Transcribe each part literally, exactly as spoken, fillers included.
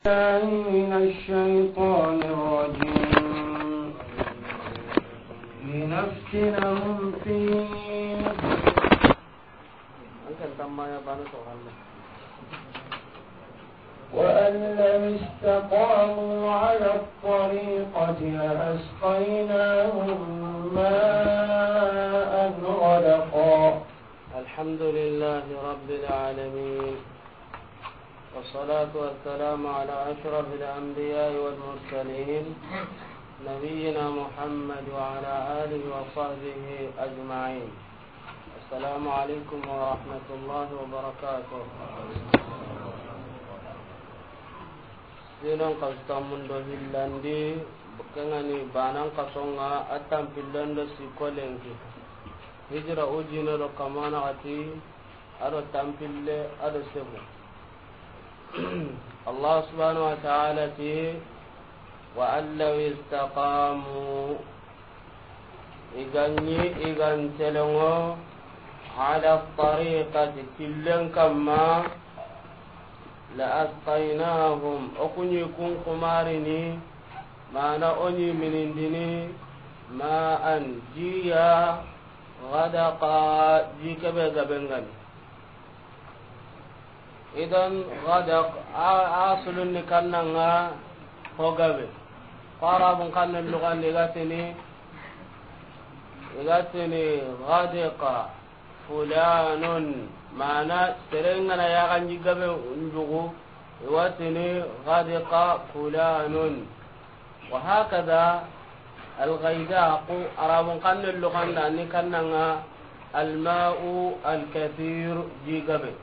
بالله من الشيطان الرجيم. لنفتنهم فيه. وأن لو استقاموا على الطريقة لأسقيناهم ماء غدقا. الحمد لله رب العالمين. والصلاة والسلام على أشرف الأنبياء والمرسلين، نبينا محمد وعلى آله وصحبه أجمعين. السلام عليكم ورحمة الله وبركاته. Sinon kasu tammun do hillandi, kengani banan kasonga, a tampillen do sikko lenki. Hijira ujine do kamana gati, ado tampille, ado segu. Allah subhanahu wa ta'ala ti, وأن لو استقاموا, i ga ɲi i ga ntelenŋo, على الطريقة, killen kamma, لأسقيناهم, o ku ɲi kun kumarini, mana o ɲi minindini, ماء, jiya, غدقا, ji kebe gaben gani. Idan, غدق, a, a sulunni kannanga ho gabe. Ko Arabun kannen lugandi i ga tini, i ga tini غدق فلان, mana seren ga na yaxanji gabe njugu, i wa tini غدق فلان. وهكذا الغيداق, Arabun kannen luganda ni kannanga الماء الكثير, ji gabe.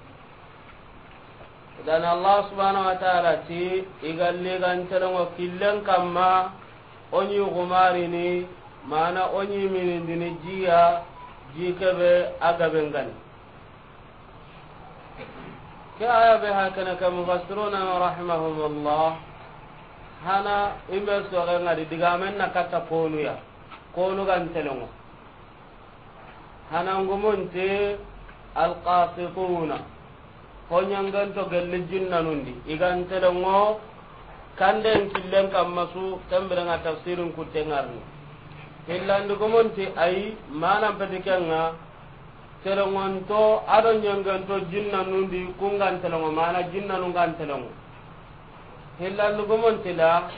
Idan Allah subhanahu wa ta'ala ti, i ga li ga ntelenŋo killen kamma, o ɲi gumarini, mana o ɲi minindini jiya, ji kebe a gaben gani. Ke aya be hakana ke mufassiruna rahimahumullah, hana i me soxe ngadi digamen na katta konuya, konu ga ntelenŋo. Hanangumunti القاسطون, ho ɲanganto gelli jinnanundi, i ga ntelenŋo kanden killen kamma su, tembirenga tafsirin kutte ngarni. Hillandigumunti ayi, manan peti kenga, telenŋonto ado ɲanganto jinnanundi, kun ga ntelenŋo, mana jinnanu ga ntelenŋo. Hillandigumunti la,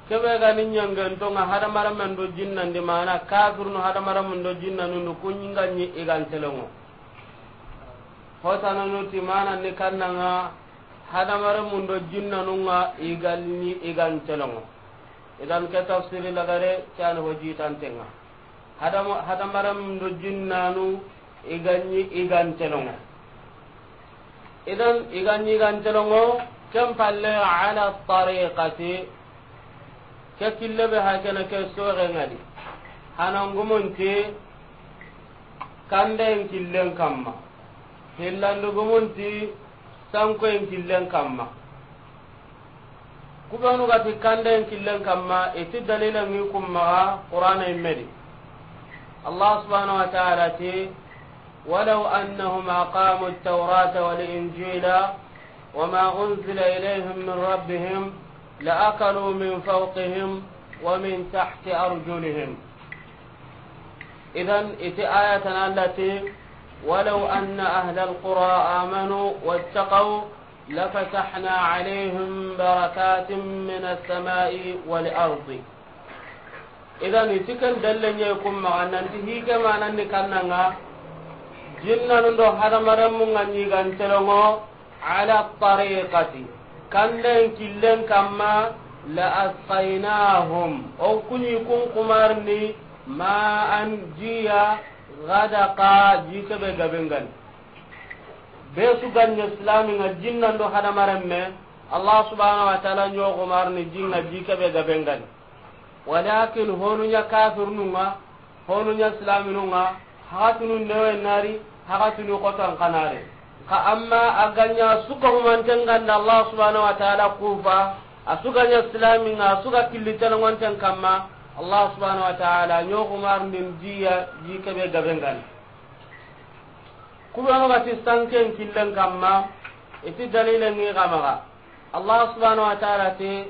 kebe ga ni ɲanganto nga hadamaren do jinnandi, mana kafirnu hadamaren do jinnanu ndu, kun ga ɲi i ga ntelenŋo. Hotananu ti mana ni kannanga hadamaren do jinnanu nga i ga ɲi i ga ntelenŋo. Idan ke tafsiri lagare, ke ani ho jitantenga. Hadama-, hadamaren do jinnanu i ga ɲi i ga ntelenŋo. Idan i ga ɲi i ga ntelenŋo, ken palle على الطريقة, ke kille be hakana ke soxe ngadi. Hanangumunti kandayen killen kamma. Hillandigumunti sankoyen killen kamma. Kubenu ga ti kandayen killen kamma, i ti dalilen ŋi kun maxa Qur'ana yimme di. Allah subhanahu wa ta'ala ti, ولو أنهم أقاموا التوراة والإنجيل وما أنزل إليهم من ربهم لأكلوا من فوقهم ومن تحت أرجلهم. Idan, i ti ayatan Allah ti, ولو أن أهل القرى آمنوا واتقوا لفتحنا عليهم بركات من السماء والأرض. Idan, i ti ken dalle ɲa kun maxa nanti hi ke manan ni kannanga, jinnanu do hadamarenmu nga ɲi i ga ntelenŋo, على الطريقة, kandayen killen kamma, لأسقيناهم, o ku ɲi kun kumarini, ماء, jiya, غدقا, ji kebe gaben gani. Be su ga ɲa silami nga jinnan do hadamarenme, Allah subhanahu wa ta'ala ɲo kumarini ji nga ji kebe gaben gani. Walakin honu ɲa kafirnu nga, honu ɲa silaminu nga, haxatunu newe nari, haxatunu xotan kanare. Ka amma a ga ɲa su ga humanten ganda Allah subhanahu wa ta'ala kufa, a su ga ɲa silami nga, a su ga killi telenŋonten kamma, Allah subhanahu wa ta'ala ɲo kumarindin jiya, ji kebe gaben gani. Kubenu ga ti sanken killen kamma, i ti dalilen ŋi xa maxa. Allah subhanahu wa ta'ala ti,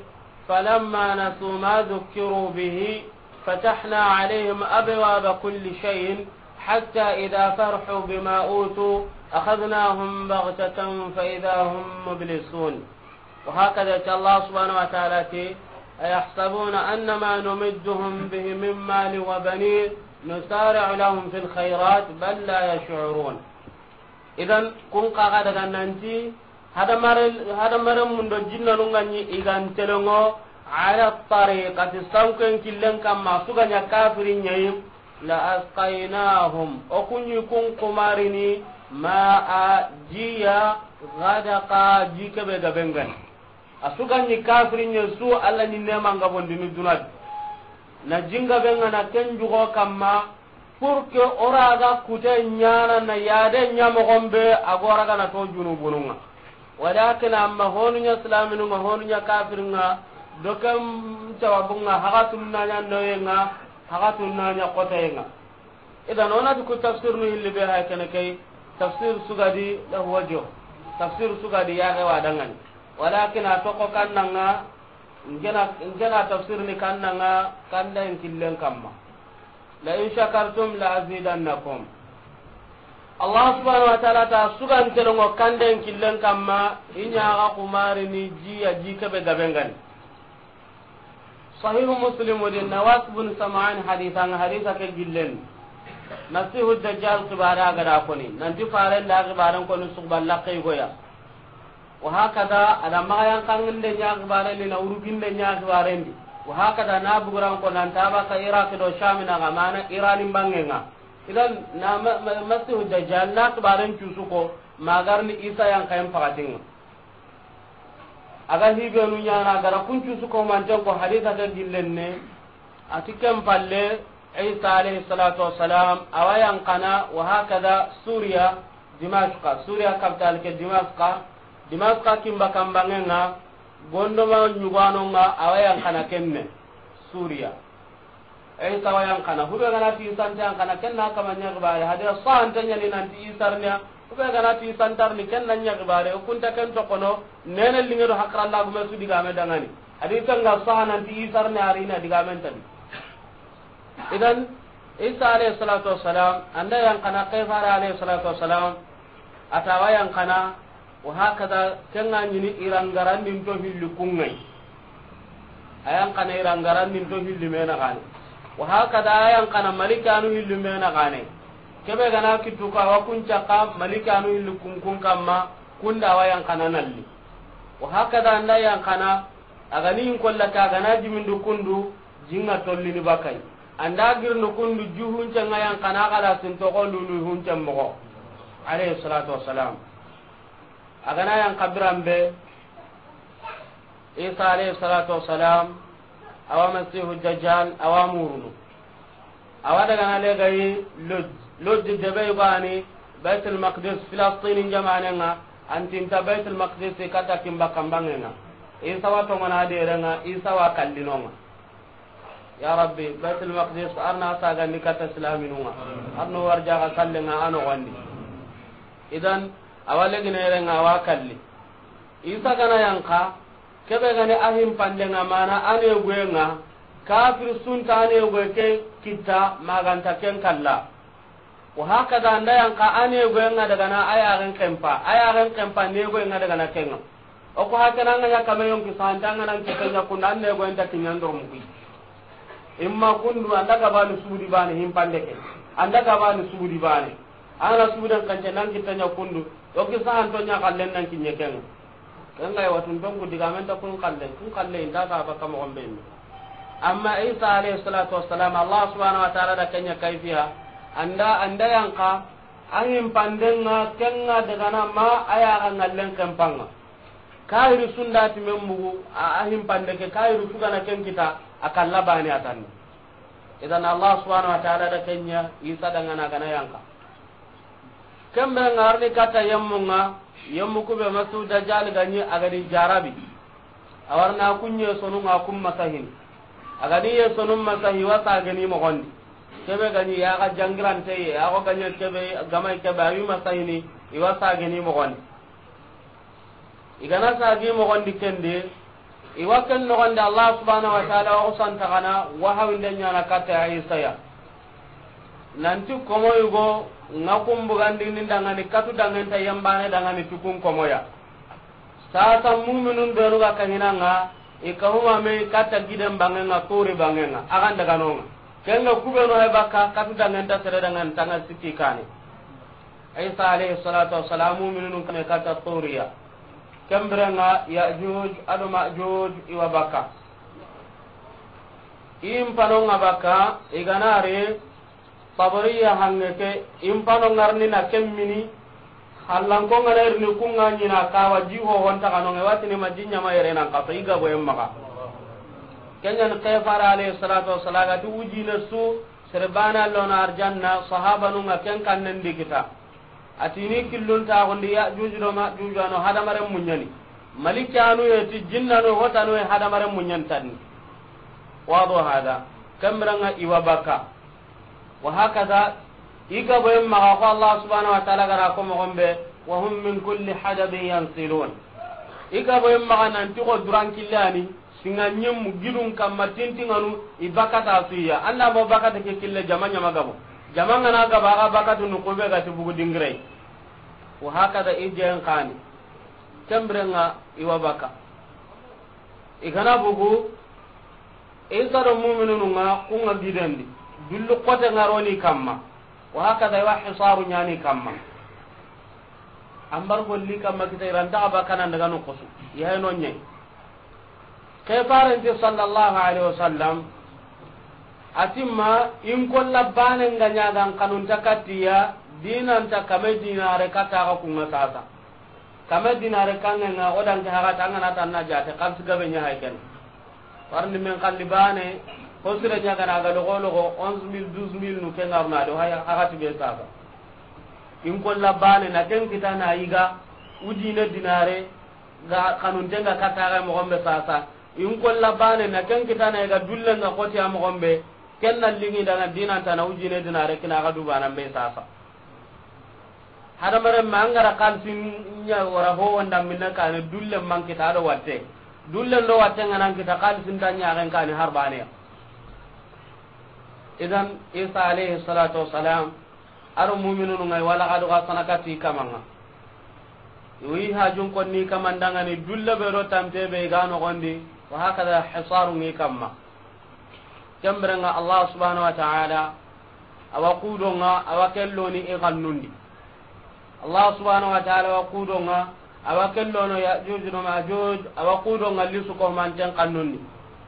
فلما نسوا ما ذكروا به فتحنا عليهم أبواب كل شيء حتى إذا فرحوا بما أوتوا أخذناهم بغتة فإذا هم مبلسون. وهكذا الله سبحانه وتعالى تي، أيحسبون أنما نمدهم به من مال وبنين نسارع لهم في الخيرات بل لا يشعرون. Idan, kun kaga daga nanti, hadamare, hadamare mun do jinnanu nga ni igan telengo, ala tariqati, sanken killen kamma, su ga ɲa kafirin ɲa yi, la asqaynahum, o kun ɲi kun kumarini, ma a jiya, gadaqa, ji kebe gabe nga ni. A su ga ɲi kafirin ɲa su, Alla ni neman ga bondini dunadi. Na jinga be nga na ken jugo kamma, pour que o ra ga kute ɲana na yade ɲa mogon be, a go ra ga na to junubunun ŋa. Walakin amma honu ɲa silaminun ŋa, honu ɲa kafirin ŋa, do ken sababun ŋa, haxatun na ɲa noyen ŋa, haxatun na ɲa xotoyen ŋa. Idan, o na ti ku tafsir nu hilli be hay kene kay, tafsir su ga di lahu wajh, tafsir su ga di ya ga wa dangani. Walakin a toko kannanga, ngena, ngena tafsir ni kannanga, kanden killen kamma. La in shakartum la azidannakum. Allah subhanahu wa ta'ala ta su ga ntelongo kanden killen kamma, i ɲa ga kumarini ji ya ji kebe gabe nga ni. Sahihu Muslim di Nawas bin Sam'an haditha nga, haditha ke gillen. Masihu Dajjal kibare a ga da koni. Nanti faren da kibaren koni su balla kay goya. Wa hakada, a da maxa yanqanginde ɲa kibaren di, na wuruginde ɲa kibaren di. Wa hakada, na buguran ko nan ta baka Iraq do Sham na ga mana Iran bangenga. Idan na ma-, ma-, Masihu Dajjal na kibaren cusu ko, ma ga ri ni Isa yanqayen pakatinga. A ga hibenu ɲana, a ga ra kun cusu ko manten ko haditha ke gillen ne. A ti ken palle, Isa alayhi salatu wassalam, a wa yanqana, wa hakada Suriya, Dimashqa, Suriya capital ke Dimashqa, Dimashqa kimba kambangenga, gondoma ɲugano nga, a wa yanqana kenne, Suriya. Isa wa yanqana, hube gana ti Isa nta yanqana, ken na kama ɲa kibare, hadiya sahante ɲa ni nanti Isa ri ni ya, hube gana ti Isa nta ri ni, ken na ɲa kibare, o kunta ken tokono, nene linge do hakara lagume su digame dangani. Hadisa nga saha nanti Isa ri ni a ri na digame nta di. Idan, Isa alayhi salatu wassalam, an da yanqana, Kaisara alayhi salatu wassalam, a ta wa yanqana, wa hakada, ken ga ɲi ni Iran garandin to hilli kun ŋa yi. A yanqana Iran garandin to hilli me na gane. Wa hakada, a yanqana Malikanu hilli me na gane. Kebe gana kittu ko a wa kun caka Malikanu hilli kun kun kamma, kunda a wa yanqana nalli. Wa hakada an da yanqana, a ga ni in kolla ka gana jimindu kundu, jinga tollini bakay. An da girnu kundu juhun cenga yanqana kala sin toxo lulu hun cen moxo. Alayhi salatu wassalam. A gana yanqa biran be, Isa alayhi salatu wassalam, a wa Masihu Dajjal, a wa murunu. A wa daga na legayi loj-, lojji debe gani Baitul Maqdis, Filastini jamanen ŋa, an tinta Baitul Maqdis kata kimba kambangen ŋa. Isa wa tongona deren ŋa, Isa wa kallinon ŋa. Ya Rabbi, Baitul Maqdis, arna sagandi kata silaminun ŋa. Arno warjaga kallen ŋa a noxondi. Idan, a wa legine yeren ŋa, a wa kalli. Isa gana yanqa, kebe gani a himpanden ŋa mana a neguyen ŋa, kafir sunta a neguye ke kitta, maganta ken kalla. Wa hakada an da yanqa a neguyen ŋa daga na a yaxen kempa, a yaxen kempa neguyen ŋa daga na ken ŋa. O ko hakana an ga ɲa kame yonki sahante an ga nan kitta ɲa kundu, an neguyen ta kiɲan doromu kuyi. Imma kundu, an da gabani subudi bane himpande ke. An da gabani subudi bane. An ga na subuden kance nan kitta ɲa kundu. Yonki sahanto ɲa kallen nan kiɲe ken ŋa. Ken ga yi watun tonku digamen ta kun kalle, kun kalle inta ta baka moxon be ni. Amma Isa alayhi salatu wassalam, Allah subhanahu wa ta'ala da ken ɲa kayfiya, an da, an da yanqa, a himpanden ŋa, ken ŋa daga na ma a yaxa ngallen kempan ŋa. Kahiri sunda ti men mugu, a, a himpande ke, kahiri su gana ken kita, a kalla bane a tanni. Idan Allah subhanahu wa ta'ala da ken ɲa, Isa dangana gana yanqa. Ken be ŋa a ri ni kata yemmun ŋa, yemmu kube Masihu Dajjal ga ɲi a ga di jarabi. A wa ri na kun yesonun ŋa kun masahini. A ga di yesonon masahi, i wa sageni moxondi. Kebe ga ɲi yaxa jangirante ye, a xo ga ɲi kebe, gamay kebe, a wi masahini, i wa sageni moxondi. I ga na sagi moxon di ken di, i wa ken noxon di Allah subhanahu wa ta'ala wa xusanta xa na wahawinde ɲaana katta Isa ya. Nanti komo yugo ŋa kun bugandini dangani katu dangenta yembane dangani tukun komo ya. Sasa muminun benu ga kahinanga, i kahuma me katta giden bangenga, Turi bangenga, agan daga nonga. Kenga kubenu hay bakka katu dangenta sere dangan tanga sikki kane. Isa alayhi salatu wassalam, muminun kame katta Turiya. Kembirenga Yajuj ado Majuj i wa bakka. I mpanonga bakka, i ganari Tabariya hange ke, i mpano ngarni na ken mini, hallanko ngana irini kunga ɲina kawa ji hohonta kanonge, watini ma ji ɲama yere nan kaso, i gabo yen maxa. Kenyan kefara alayhi salatu wassalam, a ga ti wujine su, sere bana lona arjanna, sahabanunga ken kannen di kita. A ti ni killun taxundi Yajuj do Majuj ano hadamaren muɲani. Malikanu ye ti jinnanu hotanu ye hadamaren muɲani tanni. Wado hada. Kembirenga i wa bakka. Wa hakaza, i gabo yen maxa ko Allah subhanahu wa ta'ala gara ko moxon be, wa hum min kulli hadabin yansilun. I gabo yen maxa nanti ko duran killani, singa ɲimmu gidun kamma tintinganu, i bakata suya. Anda mo bakata ke kille jama ɲama gabo. Jama ngana gabo, aga bakatu nu kube gati bugu dingirei. Wa hakaza i jen kani. Kembirenga i wa bakka. I gana bugu, Isa do muminunu nga kunga gidendi. Dullu kote ngaroni kamma. Wa hakaza i wa hisaru ɲani kamma. Ambar golli kamma kita i ranta aba kanan daga no kosu. Yahe no ɲe. Ke farenti sallallahu alaihi wasallam. A ti ma in kolla bane nga ɲagan kanunta kattiya, dinanta kame dinare kata ga kunga sasa. Kame dinare kangenga o danke hagata angana tanna jate, xalisi gabe ɲa hay ken. Warni men xalli bane, ko sire ɲagana ga logo logo, onze mille, douze mille nu ke ngaruna do hay hagati be sasa. In kolla bane na ken kita na yiga, wujine dinare, ga kanuntenga kata ga moxon be sasa. In kolla bane na ken kita na yiga, dullenga xoti a moxon be, ken na lingi dana dinanta na wujine dinare kina ga dubana be sasa. Hadamaren ma angara xalisin ɲa wara ho wanda minna kane, dullen man kita ado watte. Dullen do watte ngana kita, xalisin ta ɲaxen kane har baneya. Idan Isa alayhi salatu wassalam, aro muminunu ngai wala gadu ga sanakati kamanga. Wi hajun konni kamandangani dulle be do tampe be ga no gondi, wa hakaza hisaru ngi kamma. Kembirenga Allah subhanahu wa ta'ala, awa kudonga, awa kelloni i kannundi. Allah subhanahu wa ta'ala wa kudonga, awa kellono Yajuj no Majuj, awa kudonga lisu ko manten kannundi.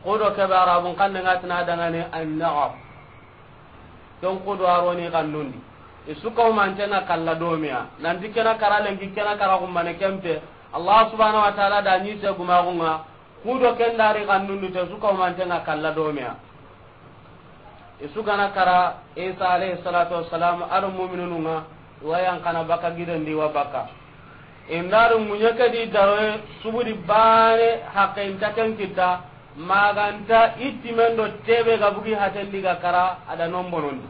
Kudo kebe Arabun kanne ngatina dangane an-naqab. Ken kudo aroni kannundi. Isu ko mantenga kalla domiya. Nanti kena kara lenki kena kara kumbane kempe. Allah subhanahu wa ta'ala da ni se gumagunga. Kudo ken dari kannundu te su kaumantenga kalla domeya. I su gana kara Isa alayhi salatu wassalam, ado muminununga, i wa yan kana baka gidendi wa baka. Indaru muɲeke di daroye subudi bane hakke inta ken kitta, maganta ittimen do tebe ga bugi hatendi ga kara ada non bonondi.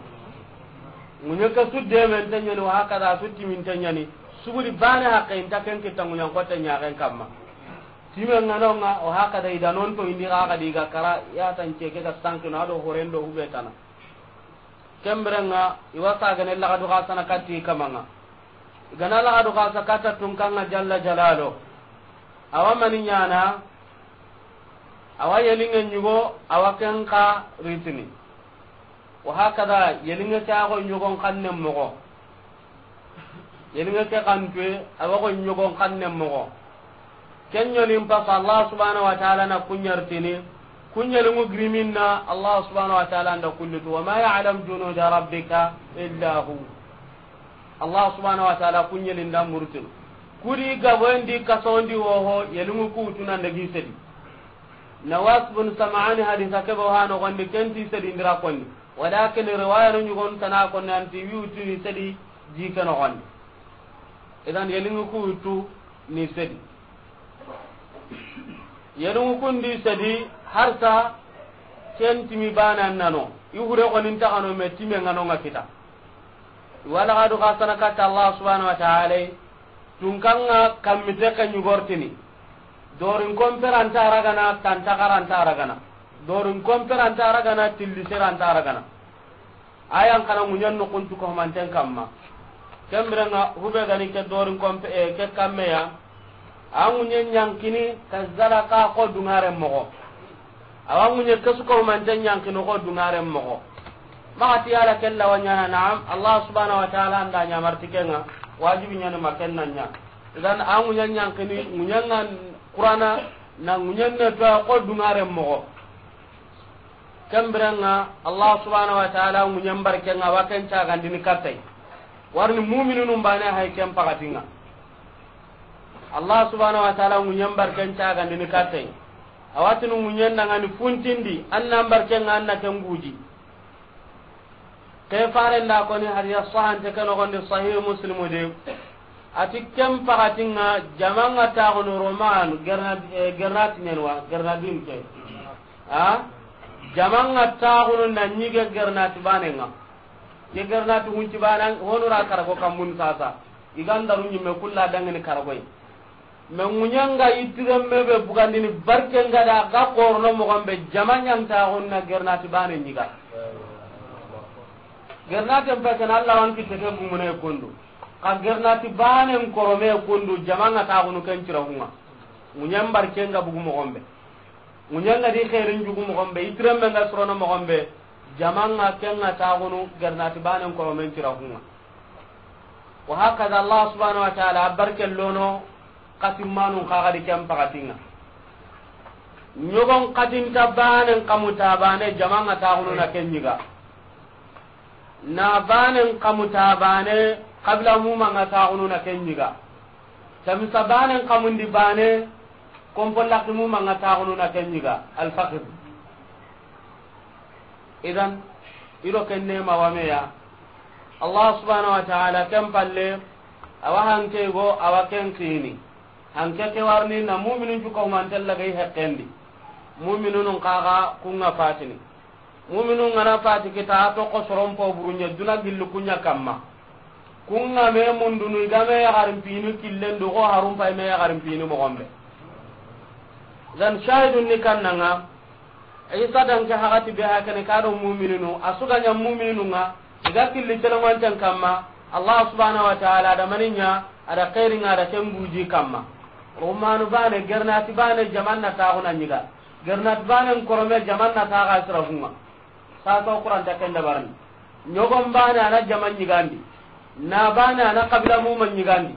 Muɲeke su demen tenyani, wa hakada su timin tenyani, subudi bane hakke inta ken kitta muɲan kotte ɲaxen kamma. Time ŋanonga, o hakada i da non to indi ga ga di ga kara, ya tan ce ke ga sankino, ado horendo hubetana. Kemberenga, i wa sagane lagadu ga sana katti kamanga. I gana lagadu ga sa katta tunkanga jalla jalalo. Awa mani ɲana, awa yelinge ɲugo, awa ken ka ritini. Wa hakada, yelinge ke ago ɲugon kanne mogo. Yelinge ke kantuye, awa go ɲogon kanne mogo. Ken ɲolin pasa Allah subhanahu wa ta'ala na kuɲartini, kuɲelingu giriminna Allah subhanahu wa ta'ala nda kullutu, wa ma ya'lam junuda rabbika illa hu. Allah subhanahu wa ta'ala kuɲelin da murtinu. Kudi gaboyendi kasondi woho, yelingu kutunanda gi sedi. Nawas bin Sam'ani hadisa kebe hano gondi kenti sedi ndira konni. Walakin riwaya no ɲugon tana ko nanti wi wutini sedi ji ke nogondi. Idan yelingu ku wutu ni sedi. Yelingu kundi sedi harsa ken timi bana nano. I hure ko nin tagano me time ŋanonga kita. Wala gadu ga sana katta Allah subhanahu wa ta'ala. Tunkanga kammite ka ɲugortini. Dorin komperanta ragana, tanta karanta ragana. Dorin komperanta ragana, tilliseranta ragana. Ayan kana ŋuɲen noxuntu ko manten kamma. Kembirenga hube gani ke dorin kompe, eh, ke kammeya. A ŋuɲen ɲankini ka zala ka ko dungare moxo. Awa ŋuɲe ke su ko manten ɲankini ko dungare moxo. Maxati yala kella wa ɲana, naam, Allah subhanahu wa ta'ala anda ɲamarti kenga, wajibi ɲani ma kenna ɲa. Idan a ŋuɲen ɲankini, ŋuɲen ŋa Qur'ana, na ŋuɲen ne to ko dungare moxo. Kembirenga Allah subhanahu wa ta'ala ŋuɲen barkenga wa ken cagandini kattay. Warni mu'minunun bane hay ken pakatinga. Allah subhanahu wa ta'ala ŋuɲen barken cagandini kattay. Awatinu ŋuɲen dangani funtindi, annan barkenga anna ken guji. Ke farenda koni hadiya sahante ke nogondi Sahih Muslimu de. Ati ken pakatinga jamanga taxunu Roman, Gernad-, eh, Gernat ɲenwa, Gernadin ke. A? Jamanga taxunu na ɲige Gernat banenga. Ke Gernat hunci bana, honura karago kambun sasa. Igandaru ɲimme kulla dangini karagoy. Me ŋuɲanga yittiren me be bugandini barkenga da ga korono moxon be jama ɲantaxun na Gernati bane ɲiga. Gernaten pekene Allah wan kitte ke gumune kundu. Ka Gernati banen korome kundu jamanga taxunu ken cirahunga. Ŋuɲen barkenga bugu moxon be. Ŋuɲanga di xeerin jugu moxon be, yittiren me nga sorono moxon be, jamanga kenga taxunu Gernati banen koromen cirahunga. Wa hakaza Allah subhanahu wa ta'ala a barke lono katimmanun kaga di ken pakatinga. Ɲogon katinta banen kamuta bane jamanga taxunu na ken ɲiga. Na banen kamuta bane kabila mumanga taxunu na ken ɲiga. Tamisa banen kamundi bane kompo laki mumanga taxunu na ken ɲiga. Alfaqir. Idan, ido ken nema wameya. Allah subhanahu wa ta'ala ken palle, awa hanke go, awa ken kini. Hanke ke warni na mu'minun cu ko mantella gay hekkendi. Mu'minunun kaga kunga fatini. Mu'minun ngana fati kita to ko soron po burunya duna gillu kunya kamma. Kunga me mundunu igame ya garin pinu killen do ko harun pay me ya garin pinu moxon be. Dan shahidun ni kannanga. Isa dan ke hagati be hakene ka do mu'mininu, a suga ɲa mu'mininu nga, iga killi telewanten kamma, Allah subhanahu wa ta'ala da maninya, ada khairin nga da ken guji kamma. Rumanu bane, Gernati bane, jamanna taxuna ɲiga. Gernati bane nkorome jamanna taxa sirahunga. Sasa Qur'an ta ken dabarni. Ɲogon bane ana jaman ɲigandi. Na bane ana kabila muma ɲigandi.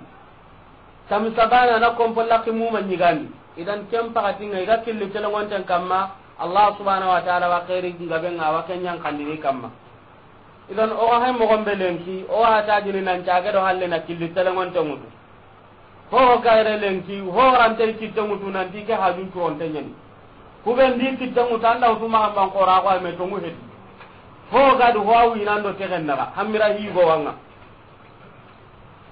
Tamisa bane ana kompo laki muma ɲigandi. Idan ken pakatinga iga killi telewanten kamma, Allah subhanahu wa ta'ala wa khairi ngabe nga wa ken ɲankandini kamma. Idan o ga hay moxon be lenki, o wa tajini nan cage do halle na killi telewanten ŋutu. Ho gayre lenki, ho rante kitte ŋutu nanti ke hajun curonte ɲani. Kuben di kitte ŋutu anda wutu maxa ban xora ko me tongu hedi. Ho gadu ho awi nando tegen naga, hamira higo wanga.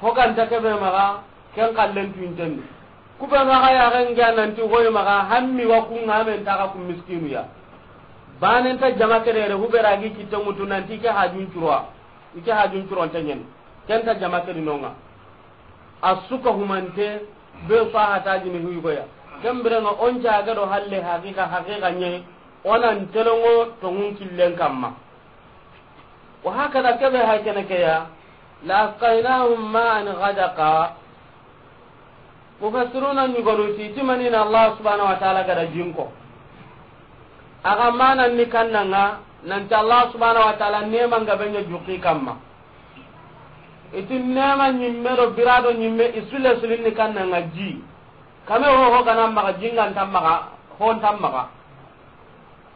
Ho ganta kebe maxa, ken kallen tuintendi. Kuben maxa ya gen ga nanti hoy maxa, hammi wa kunga men taga ku miskinu ya. Banen ta jama kedere, hubera gi kitte ŋutu nanti ke hajun curo. Ike hajun curonte ɲani. Ken ta jama kedi nonga. A suka humante be so a hatajini huygoya. Ken birenga on jaga do halle haqiqa, haqiqa ɲe, onan telongo tongun killen kamma. Wa hakada kebe hay kene ke ya, la asqaynahum ma'an ghadaqa. Mufassiruna ɲugonu ti, ti manina Allah subhanahu wa ta'ala gada jinko. Aga manan ni kannanga, nanti Allah subhanahu wa ta'ala nema nga benya juki kamma. Iti nema ɲimme do birado ɲimme isule sulin ni kannanga ji. Kame ho ho gana maga jingan tammaga, hon tammaga.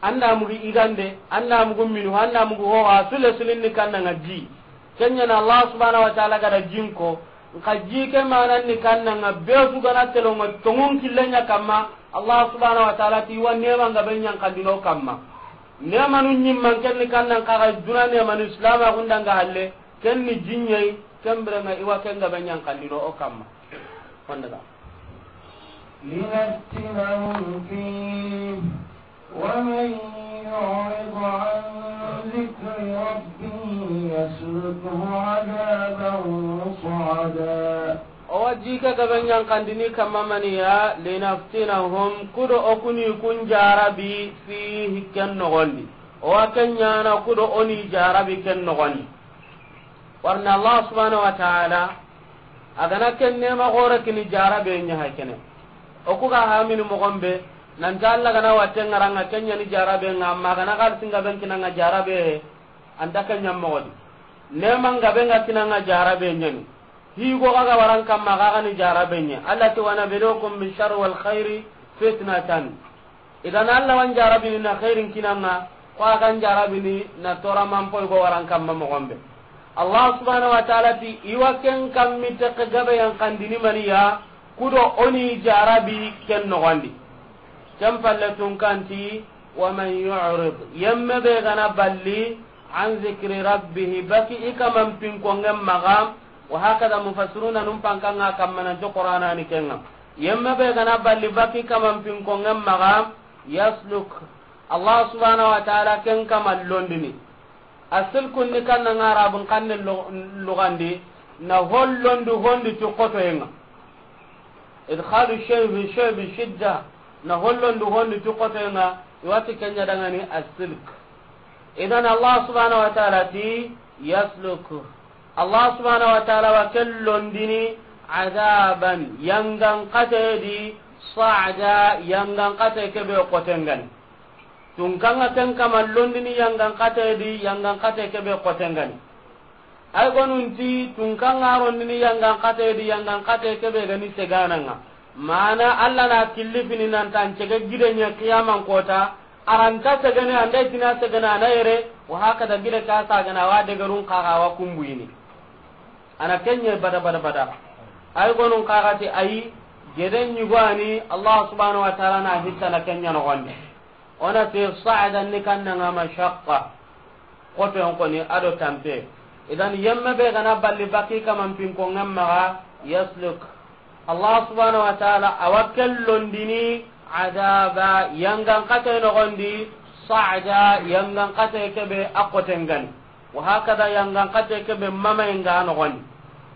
Anda mugi igande, anda mugu minu, anda mugu ho, a sule sulin ni kannanga ji. Kenya na Allah subhanahu wa ta'ala gada jinko, nka ji ke manan ni kannanga be su gana telonga tongun killenya kamma, Allah subhanahu wa ta'ala ti wa nema nga benya kandino kamma. Nemanu ɲimman ken ni kannan kaga duna nemanu islama gundanga halle, ken ni jinyai, ken birenga iwa ken ga benya kandino o kamma. Fondaga. لنفتنهم فيه ومن يعرض عن ذكر ربه يسلكه عذابا صعدا. O wa ji ke Gabe ɲankandini kamma maniya, linaftinahum, kudo o kuni kun jarabi, fihi, ken nogondi. O wa ken ɲana kudo o ni jarabi ken nogondi. Warna Allah subhanahu wa ta'ala, a gana ken nema gore kini jarabe ɲa hay kene. O ku ga hamini mogon be, nan ta Allah gana watte ŋaranga ken ɲa ni jarabe ŋa, amma gana xalisi ŋa ben kinanga jarabe, anta ken ɲa mogodi. Nema ŋa ben ŋa kinanga jarabe ɲa ni. Higo ga ga waran kamma ga ga ni jarabe ɲa. Allah ti, "Wa nabluukum bi sharri wal khairi fitnatan." Idan Allah wan jarabini na khairin kinanga, ko a gan jarabini na tora man poy go waran kamma mogon be. Allah subhanahu wa ta'ala ti, i wa ken kammi te gabe ɲankandini maniya, kudo o ni jarabi ken nogondi. Ken palle tunkanti, "Wa man yu'rid," yemme be gana balli, "an zikri rabbih," baki i kaman pinkongen maxa, wa hakada mufassiruna num pankanga kamma nan to Qur'ana ni kenga. Yemme be gana balli baki kaman pinkongen maxa, yasluk. Allah subhanahu wa ta'ala ken kama londini. Asilkun ni kanna nga Arabun kanne lo-, lugandi, na hollondi hondi ti kotoyenga. Idkhalu shay fi shay bi shidda, na hollondi hondi ti kotoyenga, i wa ti kenya dangani asilk. Idan Allah subhanahu wa ta'ala ti yasluk. Allah subhanahu wa ta'ala wa ken londini adaban, yangan kate di, sa'da, yangan kate kebe kotengani. Tunkanga ken kama londini yangan kate di, yangan kate kebe kotengani. Ay gonunti tunkanga rondini yangan kate di, yangan kate kebe gani segananga. Mana Allah na killifini nan tan cege gide ɲa kiyaman kota, aranta segene, anda itina segene, ana yere, wa hakada gide ka sagana wa degerun kaga wa kumbuyini. Ana kenye bada bada bada. Ay gonun kaga ti ayi, gede ɲugani Allah subhanahu wa ta'ala na hitta na kenya nogondi. Ona ti sa'dan ni kannanga mashaqqa. Koto yon koni ado tampe. Idan yemme be gana balli baki kaman pinkongen maxa, yasluk. Allah subhanahu wa ta'ala a wa ken londini adaba yangan kate nogondi, sa'da yangan kate kebe a kotengani. Wa hakada yangan kate kebe mamayenga nogondi.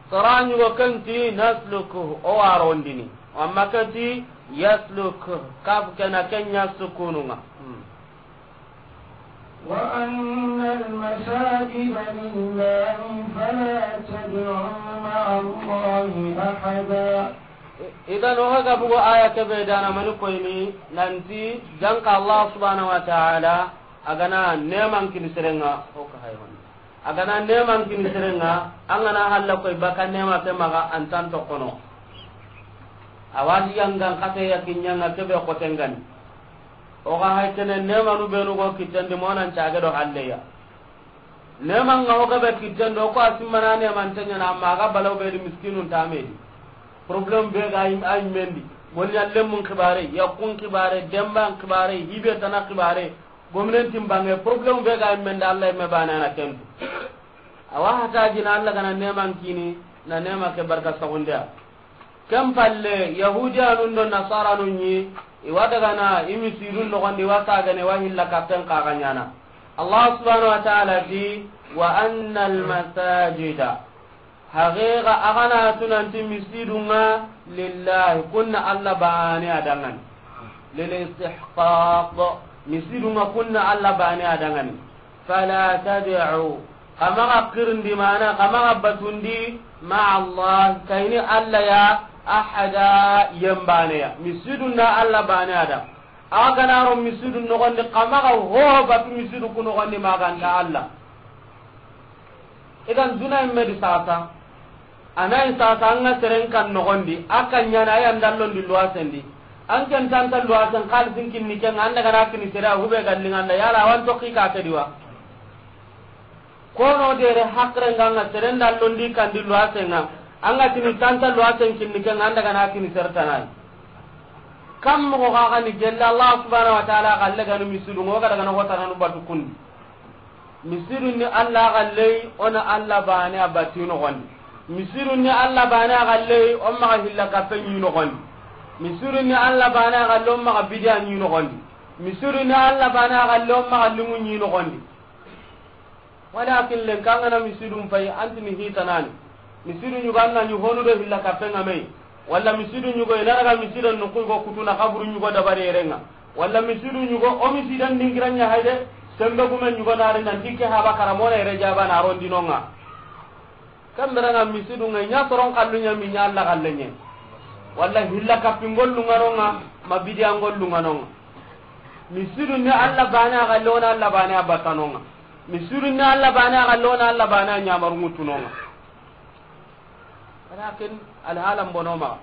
Sara ɲugo kenti nasluku, o wa rondini. Amma kenti yasluk, kaf kena kenya sukununga. Hmm. وأن المساجد لله فلا تدعوا مع الله أحدا. Idan o ga bugo aya kebe dana mani koyni nanti janka Allah subhanahu wa ta'ala a gana neman kini serenga o ka hay hon. A gana neman kini serenga, an gana halla koy baka nema ke maga antan to kono. Awadi yangan kate ya kinyanga kebe kotengani. O ga hay kene nemanu benu go kitten di monan cage do halleya. Neman ga o ga be kitten do ko asimmana neman tanya na amma ga balaw be di miskinun tamedi. Problem be ga im ay mendi. Gonni allemmun kibare, yakun kibare, demban kibare, hibe tana kibare. Gomnentin bange problem be ga mende Allah me bana na kentu. Awa hata jina Allah gana neman kini na nema ke barka sagundiya. Ken palle, Yahudiyanun do Nasaranun ɲi, i wa dagana i misidun nogondi, wa sagane wa hilla kappen kaga ɲana. Allah subhanahu wa ta'ala ti, "Wa annal masajida." Haqiqa, a gana tunanti misidunga lillahi, kunna Allah bane a dangani. Lil istihqaq, misidunga kunna Allah bane a dangani. Fala tad'u, kamaga kirindi mana, kamaga batundi, ma'a Allah, kayini Allah ya, ahada, yembane ya. Misidun na Allah bane a da. A gana ro misidu nogondi, kamaga ho batu misidu ku nogondi maganta Allah. Idan duna imme di sasa. Anayi sasa anga seren kan nogondi, a kan ɲana aya ndallondi luwasendi. An ken tanta luwasen xalisin kinni ken, an daga na kini sere a hube gallinganda, yala awan tokki ka kediwa. Kono dere hakre nganga seren dallondi kandi luwasenga, anga tini tanta luwasen kinni ken, an daga na kini sere tanai. Kam mo ga ni gella Allah subhanahu wa ta'ala galle ganu misidu ngo ga daga na hota nanu batu kundi. Misidu ni Allah galle, ona Allah bane a bati nogondi. Misidu ni Allah bane a galle, on maga hilla kappe ɲi nogondi. Misidu ni Allah bane a galle, on maga bidiya ɲi nogondi. Misidu ni Allah bane a galle, on maga limu ɲi nogondi. Walakin len kangana misidun pay antini hitanani. Misidu ɲuganna ɲi honu do hilla kappe ngamei. Walla misidu ɲugo, i na daga misidan nuxu i go kutu na xaburu ɲugo dabari yere ŋa. Walla misidu ɲugo, o misidan dingira ɲa hayde, sembe gume ɲugo na ri nanti ke haba kara mo na yere jaba na rondino ŋa. Ken bire ŋa misidu ŋa ɲa soron xallu ɲa mi ɲa Alla xalle ɲa. Walla hilla kappi ngollu ŋa no ŋa, ma bidiya ngollu ŋa no ŋa. Misidu ni Alla bane a xalle, o na Alla bane a batano ŋa. Misidu ni Alla bane a xalle, o na Alla bane a ɲamaru ŋutuno ŋa. Walakin alhalan bono maxa.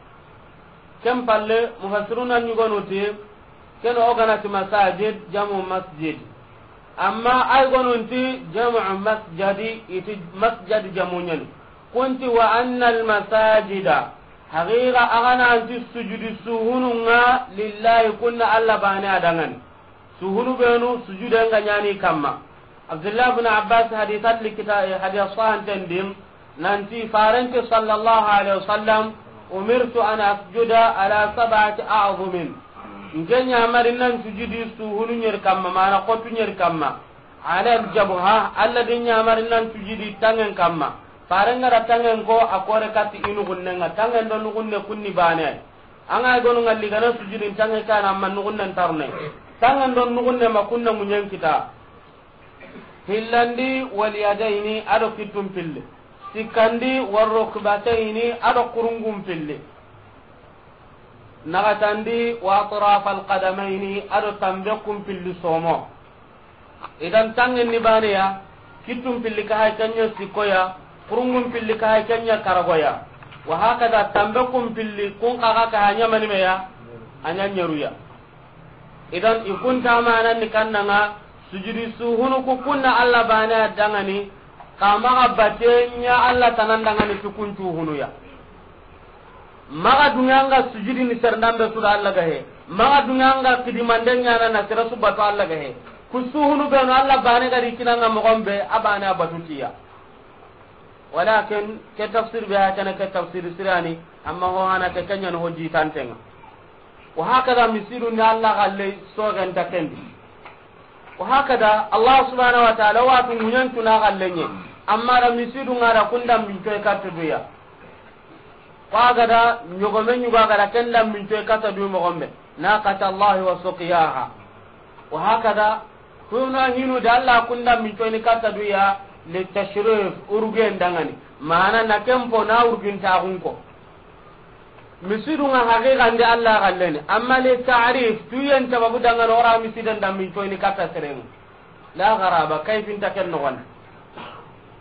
Ken palle, mufassiruna ɲugonu ti, ken o ga na ti masajid, jamu masjid. Amma ay gonun ti jamu masjadi, i ti masjad jamu ɲani. Kun ti wa anna almasajida, haqiqa a ga na ti sujudi suhunu ŋa lillahi, kun na Alla bane a da ŋa ni. Suhunu benu sujuden ga ɲani kamma. Abdullah ibn Abbas haditha li kita-, haditha sahanten di, nanti farenti sallallahu alaihi wasallam, umirtu an asjuda ala sab'ati a'zumin. Nke ɲamari nan sujudi suhunu ɲeri kamma, mana xotu ɲeri kamma. Ala aljabha, Alla di ɲamari nan sujudi tangen kamma. Faren ga da tangen ko, a kore katti i nuxunne ŋa, tangen do nuxunne kun ni bane. An ga gonu ŋa li ga na sujudin tange kana, amma nuxunnen tarne. Tangen do nuxunne ma kunna muɲen kita. Hillandi wal yadayni, a do kittun pilli. Sikkandi war rukbatayni, a do kurungun pilli. Naxatandi wa atrafal qadamayni, a do tanbe kun pilli somo. Idan tangen ni baneya, kittun pilli ka hay kenya sikkoya, kurungun pilli ka hay kenya karagoya. Wa hakada tanbe kun pilli kun kaga ka hanya manimeya, anya nyeruya. Idan i kun ta manan ni kannanga, sujudi suhunu ku kunna Alla bane a da ŋa ni, ka maxa bate ɲa Alla tanan da ŋa ni tukun suhunuya. Maxa duŋa ŋa sujudi ni serndan be su da Alla ga he. Maxa duŋa ŋa kidimande ɲana na sere su batu Alla ga he. Ku suhunu benu Alla bane ga ri kinanga moxon be, a bane a batu tiya. Walakin ke tafsir be ha kana ke tafsir sirani, amma ho hana ke kenya no ho jitantenga. Wa hakada misidu ni Alla xalle sogen ta kendi. Wa hakada Allah subhanahu wa ta'ala wa tu munyan tuna xalle ɲe. Amma da misidu ŋa da kunda min toy kartu duya. Ko a ga da ɲogome ɲugo a ga da ken da mincoy kata du moxon be, naqata Allahi wa suqiyaha. Wa hakada, kuna hinu da Alla kun da mincoy ni kata du ya, li tashrif, urugen da ŋa ni. Mana na ken po na urugin ta xun ko. Misidu ŋa haqiqan di Alla xalle ni. Amma li ta'rif, tuyen sababu da ŋa ni o ra misiden da mincoy ni kata seren ŋa. La garaba, kayfin ta ken noxon.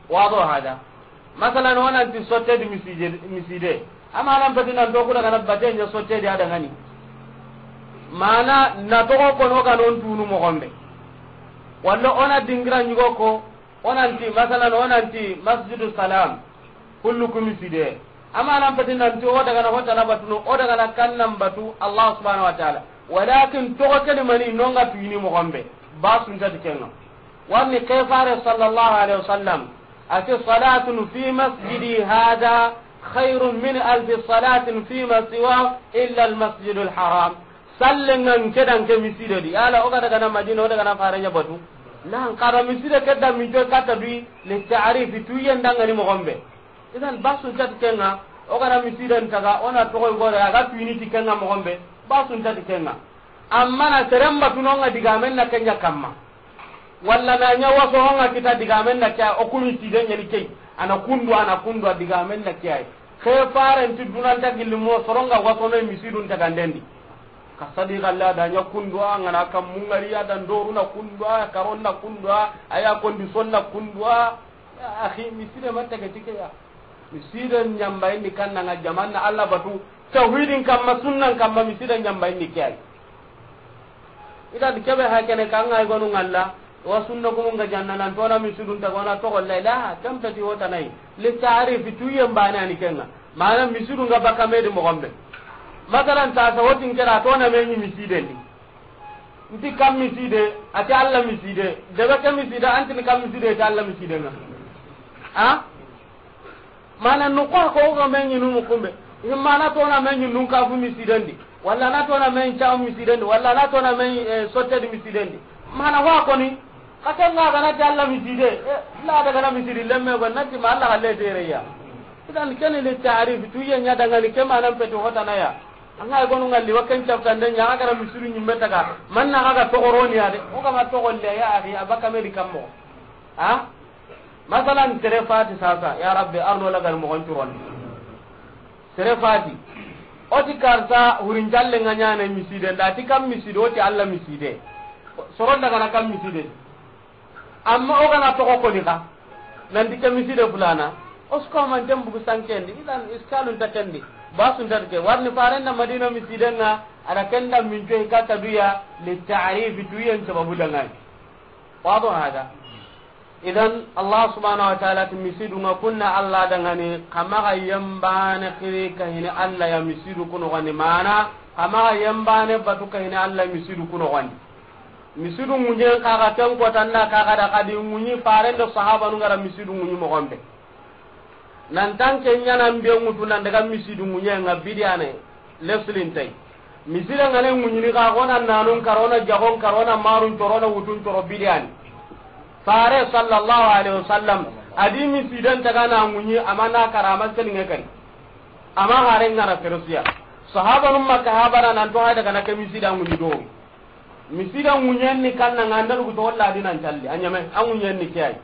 Wado hada. Masalan, o nan ti sotte di miside, miside. Amma nan pati nan to ku daga na bate ɲa sotte di a da ŋa ni. Mana na toxo ko no ga non tunu moxon be. Walla o na dingira ɲugo ko, o nan ti, masalan, o nan ti Masjidu Salam. Kullu ku miside. Amma nan pati nan ti o daga na hota na batu no, o daga na kan nan batu Allah subhanahu wa ta'ala. Walakin toxo ke ni mani no ŋa tuyini moxon be. Ba sunta di ken ŋa. Warni ke fare sallallahu alaihi wasallam. Ati salatun fi masjidi hada khairun min alfi salatin fi ma siwa illa al masjidul haram. Sallen ŋa nke da nke miside di. Yala o ga daga na Madina, o daga na fare ɲa batu. Nan kara miside ke da mincoy kata dui li ta'rif, tuyen da ŋa ni moxon be. Idan ba sunta di ken ŋa, o ga na misiden taga, o na toxo gore, a ga tuyini ti ken ŋa moxon be, ba sunta di ken ŋa. Amma na seren batu no ŋa digamen na ken ɲa kamma. Walla na ɲa waso ho ŋa kita digamen na ke ya, o ku miside ɲa ni ke yi. A na kundu, a na kundu, a digamen na ke ya. Ke faren ti dunan ta gilli mo, soron ŋa waso me misidun taga ndendi. Ka sadi galla da ɲa kundu, a ŋa na kam mungari ya da ndoru na kundu, a karon na kundu, a ya kondi son na kundu, a Ya akhi, miside ma tege ti ke ya. Miside ɲambayindi kanna ŋa jamanna Allah batu. Tawhidin kamma, sunnan kamma, miside ɲambayindi ke ay. Idan kebe ha kene kan ŋa ay gonu ŋalla. Wa sunna gumun ga janna nan tona misidun ta gona to golla la kan peti hota nay. Li ta'rif tuyen bana ni ken ŋa. Mana misidun ga baka me di moxon be. Masalan ta sa wotin kera tona me ni misiden di. Nti kam miside, ati Allah miside. Debe ke miside, anti ni kam miside, ati Allah miside ŋa. Ha? Mana no ko ko ga me ɲi nu mu kumbe. Mana tona me ɲi nu ka fu misiden di. Walla na tona me ɲi ta misiden di. Walla na tona me ɲi, eh, sotte di misiden di. Mana wa ko ni. Ka ken ŋa ga na ti Allah miside. Eh, la daga na miside lemme go na ti ma Allah halle tere ya. Idan kene li ta'rif, tuye ɲa dangani ke manan peti hotana ya. An ga gonu ŋalli wa ken caftande ɲa, a ga ra misidu ɲimme taga. Man na ga toxoroni ya de. O ga ma toxolle ya axi, a baka me di kammo. Ha? Masalan, sere fati sasa, ya Rabbi, arno lagal moxon curon. Sere fati. O ti karsa hurincalle ŋa ɲaana miside, nda ti kam miside, o ti Alla miside. Soron daga na kam miside. Amma o ga na toxo koni xa, nanti ke miside fulana, o su ko manten bugu sankendi, idan iskalun ta kendi, basun ta ke, warni farenda Madina misiden ŋa, a da kenda min coyi kata duya, li ta'rif, tuyen sababu dangani. Wado hada. Idan, Allah subhanahu wa ta'ala ti misidu ŋa kunna Alla dangani, xa maxa yembane xiri ka hini Alla ya misidu kuno gani mana, xa maxa yembane batu ka hini Alla misidu kuno gani. Misidu ŋuɲen kaga ken kotanda kaga da kadi ŋuɲi farende sahabanu ga ra misidu ŋuɲi moxon be. Nan tan ke ɲanan be ŋutu nan daga misidu ŋuɲen ŋa bidiyane leslintay. Misida ŋa ne ŋuɲini ka xona nanun karo na jagon karo na marun coro na wutun coro bidiyani. Fare sallallahu alaihi wasallam a di misidan taga na ŋuɲi amana karama selinge kari. Ama hare ŋa na Persiya. Sahabanun Makka habara nan to hay daga na ke misida ŋuɲi do. Misida ŋuɲen ni kanna ŋa nda lugu to walla di nan calli. A ɲame, a ŋuɲen ni ke ay.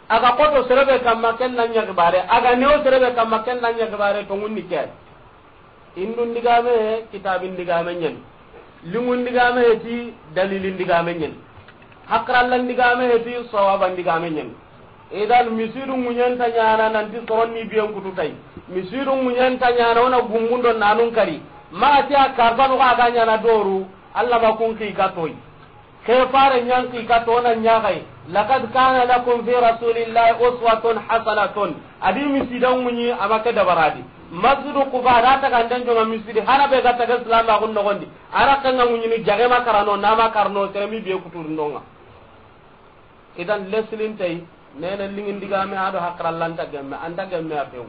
A ga koto serebe kamma ken na ɲa gibare. A ga newo serebe kamma ken na ɲa gibare to ŋun ni ke ay. Indun digame, kitabin digame ɲen. Lingun digame ti dalilin digame ɲen. Hakrallan digame ti sawaban digame ɲen. Idan misidu ŋuɲen ta ɲana nanti soronni biyen kutu tay. Misidu ŋuɲen ta ɲana wona gumbundo nanun kari. Maxa ti a karfanu xa ga ɲana doru, Alla ma kun xi ka toy. Ke fare ɲan xi ka to na ɲaxay. Laqad kana lakum fi rasulillahi uswatun hasanatun. A di misidan ŋuɲi ama ke dabaradi. Masjidu Quba da taga nden jonga misidi hana be ga taga Islam a gun nogondi. Ara kanga ŋuɲini jage ma karano, na ma karano, teremi biye kuturundonga. Idan leslin tay, nene lingin digame ado hakrallanta gemme, anta gemme a few.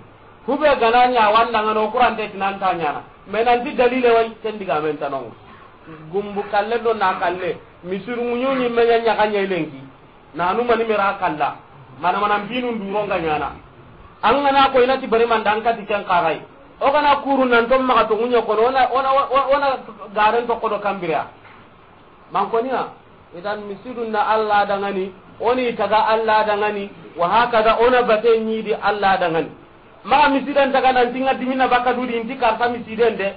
Hube gananya wanda ngano kurante tinanta nyana. Menanti dalile way ken digame tanong. Gumbu kalle do na kalle, misiru ŋuɲu ni menya ɲaga ɲelengi. Nanu mani mera kalla. Mana mana binu nduro nga nyana. An gana ko inati bari mandan kati ken kagai. O gana kuru nan to maga to ŋuɲe kono ona, ona, ona, ona garen to kodo kambira. Mankoniya, idan misidun na Allah dangani, oni taga Allah dangani, wa hakada ona bate ɲidi Allah dangani. Maxa misidan taga nan tinga dimina baka dudi inti karta misiden de.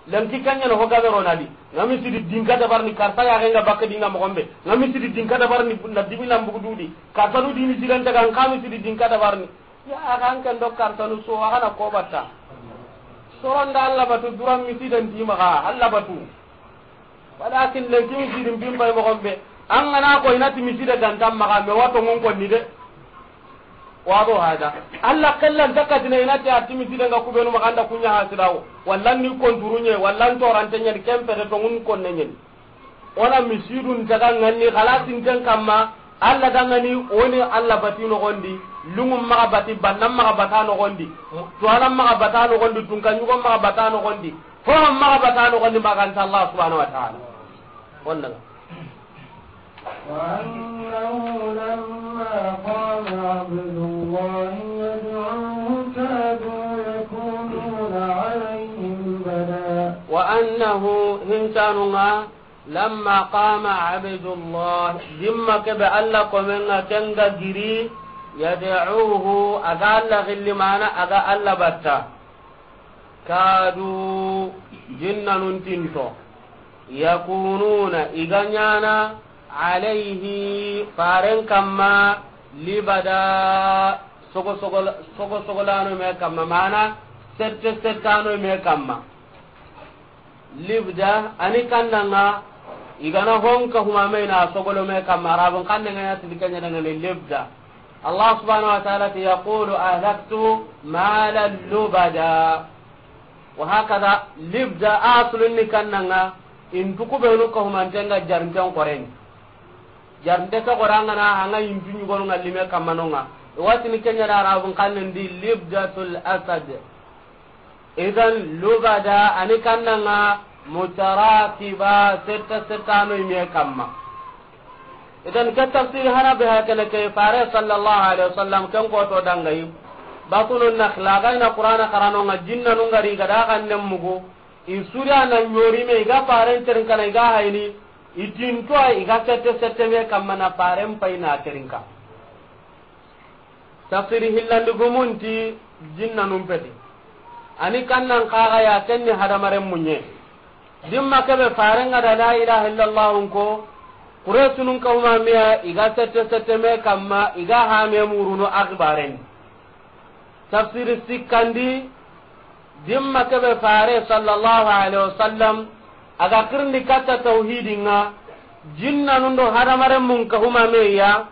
Lanki kanya no hoga bero nadi. Nga misidi dinka dabarni karta ya genga baka dinga mogombe. Nga misidi dinka dabarni na dimina mbugu dudi. Karta dudi misidan taga nga misidi dinka dabarni. Ya a kan ken do kartanu so a gana ko batta. Soronda Allah batu duran misidan di maxa Allah batu. Walakin lenki misidin bin bay mogombe. An gana ko inati misida gantam maxa me wato ngon konni de. Wado hada. Allah kallan takatina inati ati misida nga kubenu maxa anda kunya hasidawo. Wallan ni konturunye, wallan torantenya di kempe de tongun konnenyen. Ona misidun taga ŋanni xalasinten kamma, Allah dangani, oni Allah bati noxondi, lungum maxa bati, bannam maxa bata noxondi, tuwanam maxa bata noxondi, tunkanɲugon maxa bata noxondi, hohom maxa bata noxondi, maganta Allah subhanahu wa ta'ala. Onna. وأنه لما قام عبد الله يدعوه كادوا يكونون عليه لبدا. وأنه hincanunga لما قام عبد الله, dimma kebe Allah komen ŋa ken ga giri, يدعوه, a ga Allah gilli mana a ga Allah batta. كادوا, jinnanun tinto, يكونون, i ga ɲana, عليه, faren kamma, لبدا, sogo sogo, sogo sogolano me kamma, mana sette settano me kamma. Libda, ani kannanga, i gana honka humamena sogolo me kamma, Arabun kannanga ya tidi kenya dangane libda. Allah subhanahu wa ta'ala ti, يقول أهلكت مالا لبدا. وهكذا, libda aslun ni kannanga, intu kubenu ka humantenga jarinten koren. Jarinte ke gorangana, anga intu ɲugonu nga lime kammanonga. Watini kenya da Arabun kannen di libdatul asad. Idan lubada ani kannanga mutarakiba setta settano ime kamma. Idan ke tafsir hana be hakana ke fare sallallahu alaihi wasallam ken ko to dangayi. Batulun Nakhla, a ga i na Qur'ana xarano ŋa, jinnanu ŋa ri ga da xannen mugu, i su da na ɲori me, i ga faren terinkana, i ga hayini, i tinto a, i ga sette sette me kamma na faren pay na terinka. Tafsiri hillandi gumun ti jinnanun peti. A ni kannan xaxa ya, ken ni hadamaren muɲe. Dimma kebe faren ŋa da la ilaha illallah ko, Quraysunun kawma miya, i ga sette sette me kamma, i ga hame murunu axibaren. Tafsiri sikkandi, dimma kebe fare sallallahu alaihi wasallam, a ga xirindi katta tawhidin ŋa, jinnanun do hadamaren mun kawma me ya,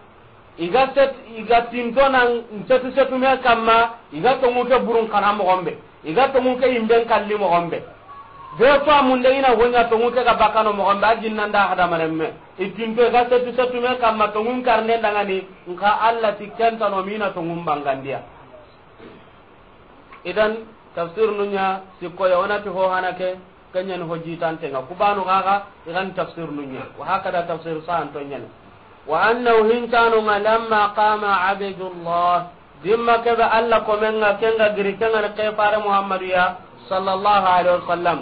i ga set, i ga tinto nan setu setu me kamma, i ga tongu ke burun kana moxon be, i ga tongu ke yimben kalli moxon be. Be fa munde i na hoɲa tongu ke ga bakano moxon be, a jinnan da hadamaren me. I tinto i ga setu setu me kamma, tongun karne ndangani, nka Allah ti kentano mina tongun bangandiya. Idan, tafsir nunya sikko ya, wona ti ho hana ke, kenyan ho jitante ŋa. Kubanu gaga, igan tafsir nunya. Wa hakada tafsir sa anto nyane. Wa annahu hintanu ŋa lamma qama abdullah. Dimma kebe Allah komen ŋa, ken ga giri, ken ga ni ke fare Muhammadu ya, sallallahu alaihi wasallam.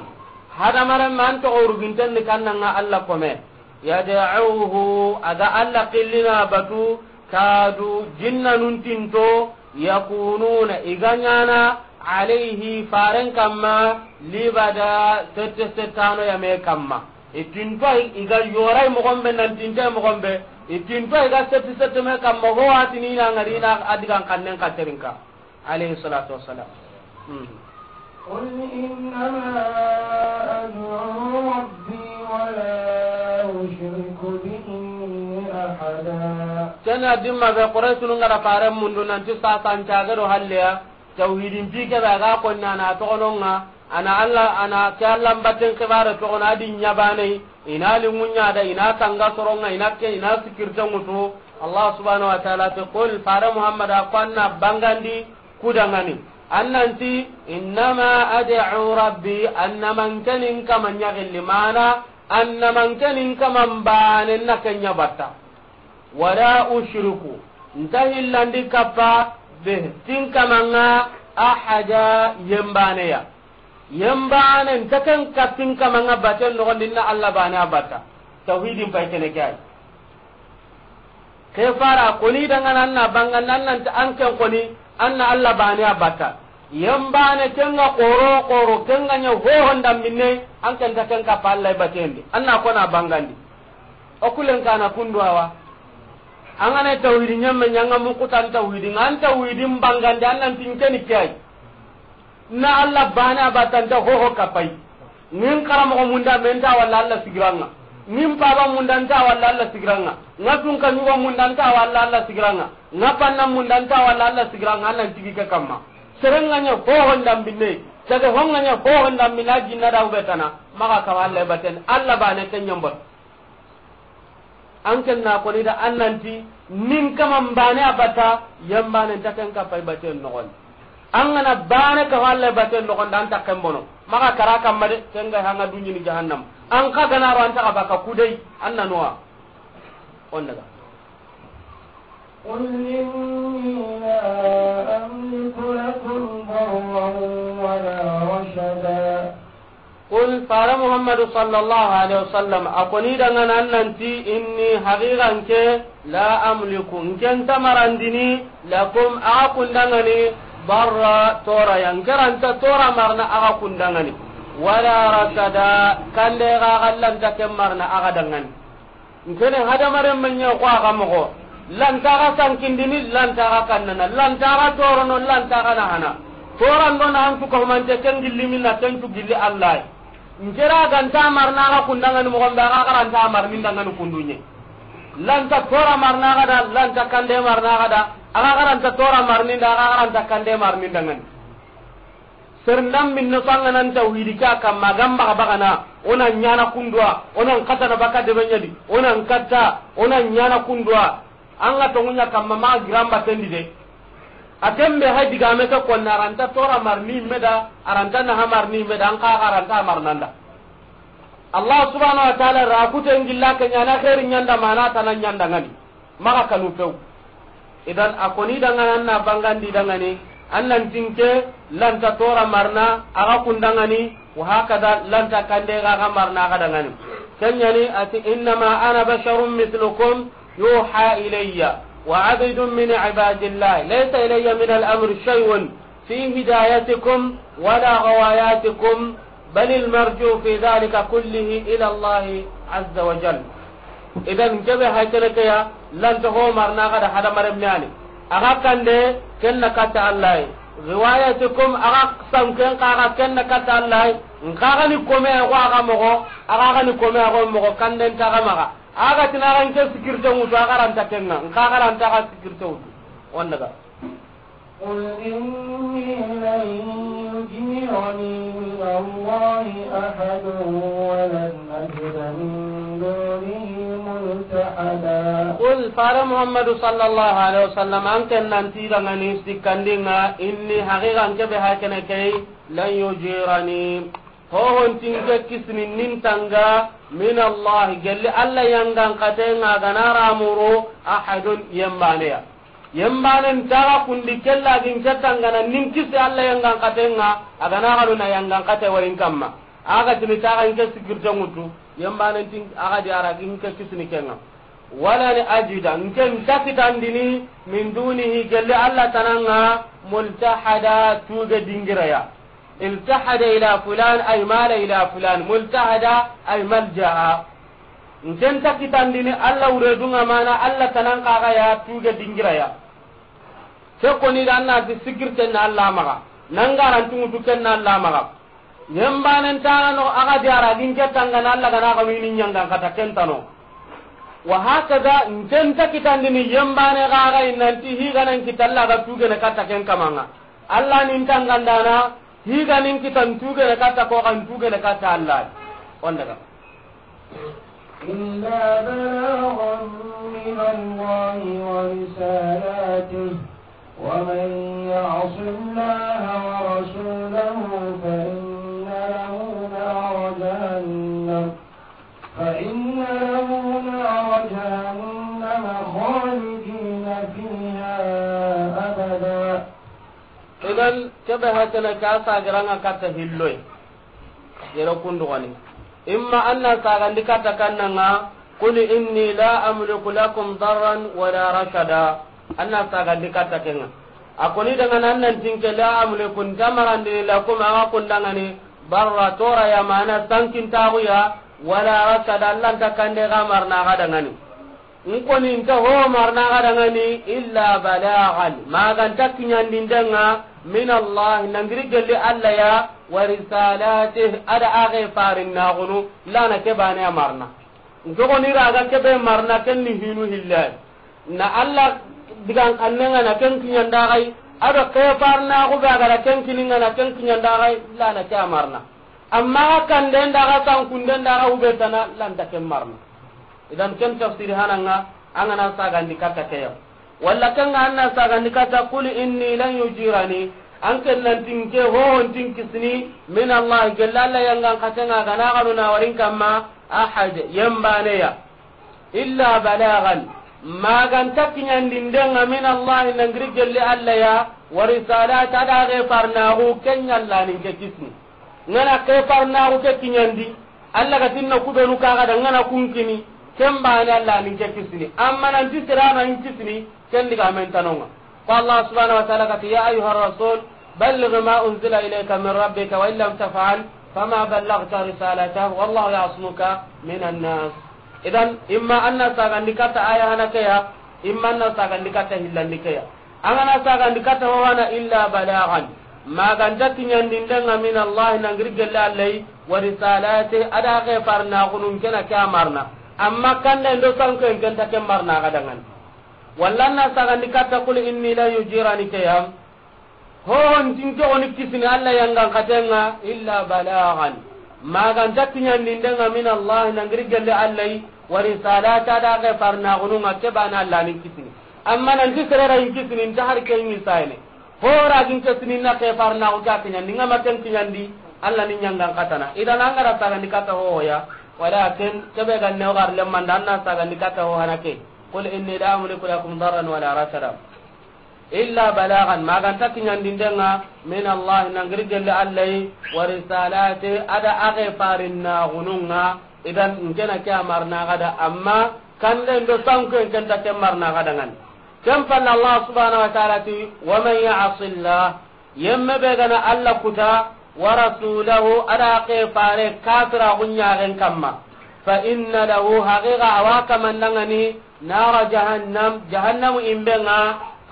Hadamaren man to uruginten ni kannan ŋa Allah kome. Yad'uhu, a ga Allah qillina batu, kadu, jinnanun tinto, yakununa, i ga ɲana, alayhi, faren kamma, libada, sette settano ya me kamma. I tinto i, i ga yorai moxon be, nan tinte moxon be, i tinto i ga sette sette me kamma, ho watini na ŋari na a digan xannen ka terinka. Alayhi salatu wassalam. Hmm. قل إنما أدعو ربي ولا أشرك به أحدا. Ken ya dimma be Qurayshunu ŋa da faren mundu nanti sasan cage do halleya, tawhidin pi ke be a ga konna na toxono ŋa, a na Allah, a na ke Allah mbatten xibare toxono a di ɲa bane, i na linŋu ɲa da, i na tanga soro ŋa, i na ke, i na sikirte ŋutu. Allah subhanahu wa ta'ala te, qul, fare Muhammad, a ko an na bangandi ku dangani. An nanti, innama ad'u rabbi, an na mankenin kama ɲa gilli mana, an na mankenin kama mbane na ke ɲa batta. Wala ushriku, nta hillandi kappa, bih, tin kama ŋa, ahada, yembane ya. Yembane nta ken kappin kama ŋa baten noxondi na Allah bane a batta. Tawhidin pay kene ke ay. Ke fara koni dangana an na banga nan nan ta an ken koni an na Allah bane a batta. Yembane ken ŋa xoro xoro ken ŋa ɲa hoho ndambinne an ken ta ken kappa Allah batendi. An na kona bangandi. O kulen kana kundu awa. An ga na tawhidi ɲamme ɲa ŋa mukutan tawhidi ŋa an tawhidin bangandi an nan tin keni ke ay. Na Allah bane a batta nta hoho kapay. Ŋin karamoxo munda me nta walla Allah sigiran ŋa. Ŋin paba munda nta walla Allah sigiran ŋa. Ŋa tunka ɲugo munda nta walla Allah sigiran ŋa. Ŋa panna munda nta walla Allah sigiran ŋa. An nan tigi ke kamma. Seren ŋa ɲa hoho ndambinne. Sege ho ŋa ɲa hoho ndambinne a jinna da ubetana. Maxa kawa Allah baten. Allah bane ken ɲambot. An ken na koni da an nanti, nin kama mbane a batta, yembane nta ken kappa i baten noxondi. An ga na bane kawa Allah baten noxondi, an ta ken bono. Maxa kara kamma de, ken ga hanga duɲini jahannam. An ka ga na ro an ta ga baka kudai, an na nowa. On daga. قل إني لا أملك لكم ضرا ولا رشدا. Qul, fara Muhammadu sallallahu alaihi wasallam, a koni dangana an nanti, inni, haqiqa nke, la amliku, nke nta marandini, lakum, axa kundangani, barra, toraya, nke ranta tora marna axa kundangani, wala rasada, kande ga gallanta ken marna axa dangani. Nkene hadamaren men ɲa ko a ga moxo. Lantaxa sankindini, lantaxa kannana, lantaxa torono, lantaxa nahana. Torando na hantu kahumante ken gilli minna, ken tu gilli Allah. Nkera ganta marna axa kundangani moxon be, axa garanta marni ndangani kundunye. Lanta tora marna axa da, lanta kande marna axa da, axa garanta tora marni nda, axa garanta kande marni ndangani. Serndam minne so an ga nan tawhidi ke a kamma, a ga mbaga bagana, o na ɲana kundwa, o na n katana baka debe ɲadi, o na n katta, o na ɲana kundwa. An ga tongunya kamma ma giramba tendi de. A tembe hay digame ke konna, aranta tora marni meda, aranta naha marni meda, an ka aranta marnanda. Allah subhanahu wa ta'ala ra kuten gilla ke ɲana khairi ɲanda mana tana ɲanda ngani. Maxa kanu pew. Idan a koni dangana na bangandi dangani, An nan ti n ke lanta tora marna a ga kundangani, wa hakada lanta kande ga ga marna a ga dangani. Ken ɲa ni a ti, "Innama ana basharun mithlukum yuha ilayya wa abdun min ibadillah laysa ilayya min al-amri shay'un fi hidayatikum wala ghawayatikum." بل المرجع في ذلك كله إلى الله عز وجل. Idan, kebe hay kene ke ya, lanta ho marna ga da hadamaren me yani. A ga kande, ken na katta Allah. Riwayatikum, a ga san ken ka ga ken na katta Allah. N ka ga ni kome ko a ga mogo, a ga ga ni kome ko mogo kanden ta ga maga. A ga ti na ga n ke sikirte wutu, a ga ranta kenga. N ka ga ranta ga sikirte wutu. Wanda ga. قل إني لن يجيرني من الله أحد ولن أجد من دونه ملتحدا. قل, fare Muhammadu sallallahu alaihi wasallam, an ken nan ti dangani sikkandinga, إني, haqiqa n kebe hakene kei, لن يجيرني, hohon ti n ke kisini nin tanga, من الله, gelli Allah yangan katenga ga na ramuru, أحد, yembane ya. Yembanen taga kundi kella gin ke tangana nin kisi Allah yangan katenga, a ga na galu na yangan kate warin kamma. A ga tini taga n ke sikirte ngutu, yembanen tin a ga di ara gin ke kisini kenga. Wala ni ajida, n ke n ta kitandini, من دونه, gelli Allah tananga, ملتحدا, tuge dingira ya. التحد إلى فلان أي مال إلى فلان، ملتحدا أي ملجأ. N ke n ta kitandini Allah wure dunga mana Allah tanan kaga ya tuge dingira ya. Ke koni ga na ti sikirten na Allah maga, nan garantungu tu ken na Allah maga. Yembanen tara no a ga diara gin ke tangana Allah ga na ga mini nyanga kata ken tano. Wa hakada n ke n ta kitandini yembane ga ga inanti hi ga nan kitalla ga tuge ne kata ken kamanga. Allah nin tangandana, hi ga nin kitan tugene katta ko kan tugene katta Allah. On daga. إلا بلاغا من الله ورسالاته، ومن يعص الله ورسوله فإن له نار جهنم، فإن له نار جهنم خالدين فيها أبدا. Idan, kebe hatana ka sagiranga katta hilloy. Yero kundu gani. Imma anna sagandi katta kannanga, "Qul inni la amliku lakum darran wala rashada." Anna sagandi katta kenga. A koni daga nan nan tinke la amliku ntamarandi lakum aga kundangani barra tora ya mana sankin taguya wala rashada Allah nta kande ga marna ga dangani. N koni nta ho marna ga dangani illa balagan, maganta kiɲandindenga min Allah, nangiri gelli Allah ya, wa risalatih, ada age farin nagunu, lana ke bane a marna. N ke goni raga kebe marna, ken ni hinu hillay. Na Allah digan kannenga na ken kiɲandagai, ado ke farnagu be agara ken kininga na ken kiɲandagai, lana ke a marna. Amma kanden daga sankunden daga ubetana, lanta ken marna. Idan ken tafsiri hananga, an gana sagandi katta keya. Walla ken ga anna sagandi katta, "Qul inni lan yujirani," an ken nan tinke hohon tin kisini, min Allah, gella Allah yangan katenga gana ganu na warin kamma, ahad, yembane ya. Illa balagan, maganta kiɲandindenga min Allah nangiri gelli Allah ya, wa risalata da ge farnagu ken ɲalla nin ke kisini. Ngana ke farnaxu ke kiɲandi, Allah ga tinna kubenu kaga da ngana kun kini, ken bane Allah nin ke kisini. Amma nanti sirana in kisini, ken diga men tanonga. Ko Allah subhanahu wa ta'ala kati, "Ya ayyuha rasul, balligh ma unzila ilayka min rabbika wa illam taf'al, fama ballaghta risalatahu, wallahu ya'simuka minan nas." Idan, imma anna sagandi katta aya hana keya, imma anna sagandi katta hillandi keya. An gana sagandi katta ho hana illa balagan. Maganta kiɲandindenga min Allah nangiri gelle Allah, wa risalati ada ke farnaxunun kena ke a marna. Amma kanda ndo sanko en kenta ke marna ga dangan. Walla na sagandi katta qul inni lan yujirani keya. Hohon tinke oni kisini Allah yangan katenga illa balagan. Maganta kiɲandindenga min Allah nangiri gelle Allah, wa risalati ada ke farnaxununga ke bana Allah nin kisini. Amma nanti serera in kisini nta har ken ni sayene. Hora gin kisini na ke farnaxu ke kiɲandi, ngama ken kiɲandi, Allah ni ɲangan katana. Idan an gara sagandi katta hohoya, walakin kebe ganne o gar lemmanda anna sagandi katta ho hana ke. Qul inni la amliku lakum darran wala rashada. Illa balagan, ma ga nta kiɲandinden ŋa, min Allah, nan giri gelle Allah yi, wa risalati, a do a ke farinnaxunun ŋa. Idan, n ke na ke a marana xa da, amma kanden do sankuyen ke nta ke marana xa da ŋa ni. Ken palle Allah subhanahu wa ta'ala ti, wa man ya'si Allah, yemme be ga na Allah kuta, wa rasulahu, a do a ke fare, kafiraxun ɲaxen kamma, fa inna lahu, haqiqa a wa kaman da ŋa ni, nara jahannam, jahannamu yinben ŋa,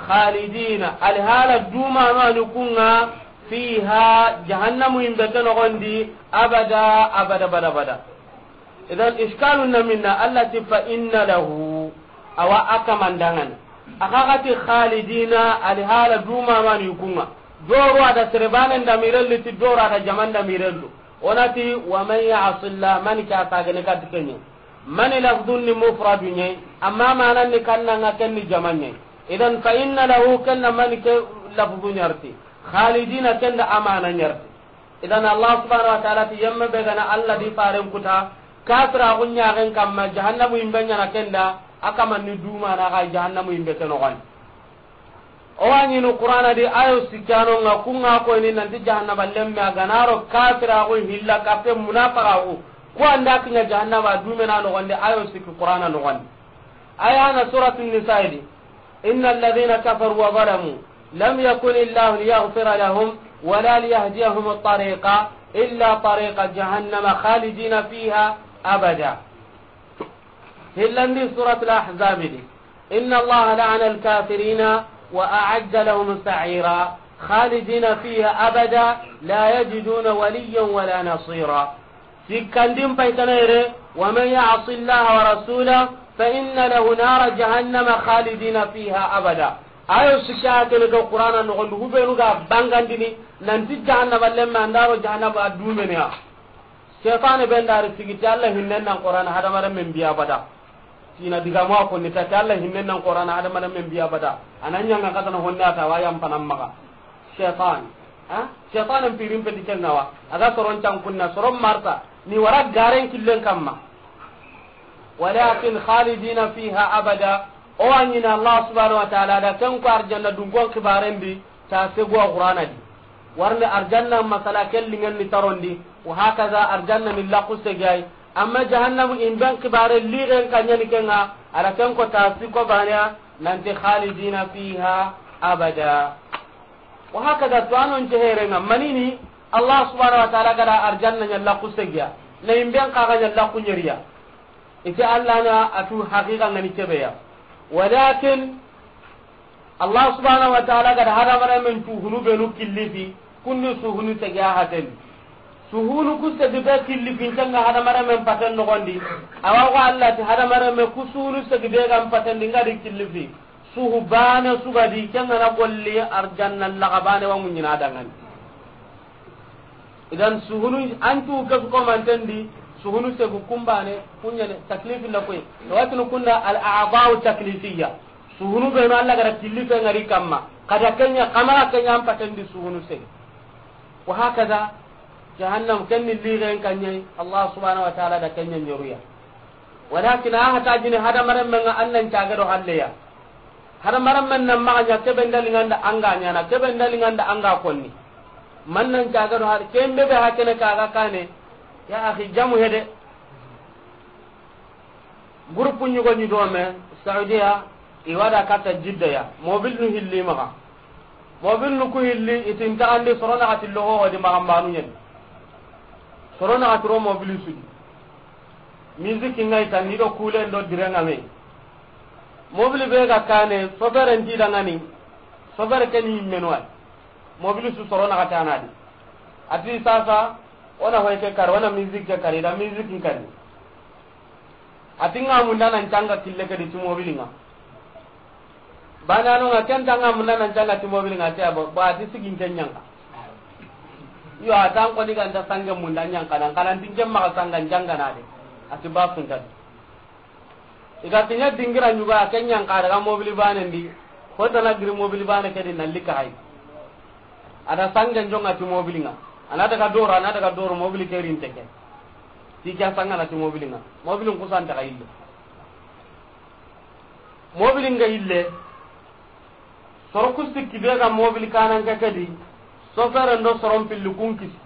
khalidina, alhala dumanu a ni kun ŋa, fiha, jahannamu yinbe ke noxon di, abada, abada, abada, abada. Idan, iskalun na minna, Allah ti fa inna lahu, a wa a kaman da ŋa ni. A xa ga ti khalidina, alhala dumanu a ni kun ŋa. Doro a da sere banen damiren liti, doro a da jaman damiren tu. O na ti, wa man ya'si Allah, mani ke a sagene kati ke ɲa. Mani lafdun ni mufradu ɲa yi, amma manan ni kannan ŋa ken ni jaman ɲa yi. Idan, fa inna lahu, ken na mani ke lafdu ɲa ri ti. Khalidina, ken da a mana ɲa ri ti. Idan, Allah subhanahu wa ta'ala ti, yemme be ga na Allah do i faren kuta, kafiraxun ɲaxen kamma, jahannamu yinbe ɲa na ken da, a kaman ni dumana xa jahannamu yinbe ke noxon di. O wa ɲiini Qur'ana di ayo sikkano ŋa, kun ŋa ko ni nanti jahannaba lemme a ga na ro kafiraxu hilla kappe munafaxaxu, ku an da kiɲa jahannaba dumena noxon di, ayo sikki Qur'ana noxon di. Aya na Suratun Nisa'i di, inna alladhina kafaru wa zalamu lam yakun Allahu liyaghfira lahum wa la liyahdiyahum tariqa illa tariqa jahannama khalidina fiha abada. Hillandi Suratul Ahzabi di. Inna Allaha la'ana al-kafirina wa a'adda lahum sa'ira. Khalidina fiha abada la yajiduna waliyan wa la nasira. Sikkandin paytana yere, wa man ya'si Allaha wa rasulahu fa inna lahu nara jahannama khalidina fiha abada. Ayo sikka kene ga Qur'ana noxon di, hubenu ga bangandini, nanti jahannaba lemme an da ro jahannaba dumene ya. Setane be n da ri sigi ti Allah hinnen nan Qur'ana hadamaren men biya bada. Tina digamu a konni ta ti Allah hinnen nan Qur'ana hadamaren men biya bada. A na ɲanga katana honne a ta wa yan panan maxa. Setan. Ha? Setan en pirin peti ken ŋa wa. A ga soron can kunna, soron marta. Ni wara garen killen kamma. Walakin khalidina fiha abada. O wa ɲiini Allah subhanahu wa ta'ala da ken ko arjanna dunkon kibaren di, ta segu a Qur'ana di. Warni arjanna masala ken lingen ni tarondi, wa hakaza arjanna ni laqu segi a yi. Amma jahannamu yinben kibare ligen ka ɲa ni ken ŋa, a da ken ko ta siko baneya, nanti khalidina fiha abada. Wa hakaza to anon ce here ŋa, manini Allah subhanahu wa ta'ala ga da arjanna ɲa laqu segi ya, na yinben xa ga ɲa laqu ɲeri ya. Ite Allah na a tu haqiqa ŋa ni kebe ya. Walakin Allah subhanahu wa ta'ala ga da hadamaren men tu hunu benu killifi, kunni suhunu segi a haten. Suhunu ku segi be killifi ken ŋa hadamaren men paten noxon di. Awa ko Allah ti hadamaren men ku suhunu segi be ga n paten di ŋa di killifi. Suhu bane su ga di ken ŋa na golli arjanna laga bane wa muɲina dangani. Idan suhunu an tu ke su komanten di, suhunu segu kumbane, kuɲane, taklifi na koy. Watinu kunda al a'da'u taklifiyya. Suhunu benu Allah ga da killife ŋa ri kamma. Ka da ken ɲa, kamara ken ɲa an paten di suhunu segu. Wa hakaza, jahannam ken ni ligen ka ɲa yi, Allah subhanahu wa ta'ala da ken ɲa ɲeru ya. Walakin a hata jini hadamaren men ŋa an nan caga do halle ya. Hadamaren men nan maxa ɲa kebe ndali ŋa nda an ga ɲaana, kebe ndali ŋa nda an ga konni. Man nan caga do har, ken be be hakene kaga kane. Ya akhi, jamu hede. Groupe ɲugo ɲi do me, Saudiya, i wa da katta Jidda ya. Mobil nu hilli maxa. Mobil nu ku hilli, i ti n taxandi soro naxati loxo di maxa mbanu ɲen. Soro naxati ro mobil su di. Musique ŋa i tan ni do kulen do direnga me. Mobil be ga kane, sobere ndi dangani. Sobere ke ni menu ay. Mobil su soro naxati a na di. A ti sasa, o na hoy ke kari, o na musique ke kari, i da musique kari. A ti ŋa munda nan canga kille ke di ti mobil ŋa. Bana no ŋa ken ta ŋa munda nan canga ti mobil ŋa ti a bo, ba ti sigin ken ɲanga. Yo, a tan ko ni ganta sange munda ɲanga nan, kanan tin ken maxa sanga ɲanga na de. A ti ba sun ta di. I ga kiɲa dingira ɲuga, a ken ɲanga daga mobil bane ndi. Ko tana giri mobil bane ke di na lika hay. A da sange njonga ti mobil ŋa. A na daga doro, a na daga doro mobil ke rin teke. Ti kya sanga na ti mobil ŋa. Mobil n kusan ta ga ille. Mobil nga ille. Soro ku sikki be ga mobili kanan ke ke di, soferen do soron pilli kun kisi.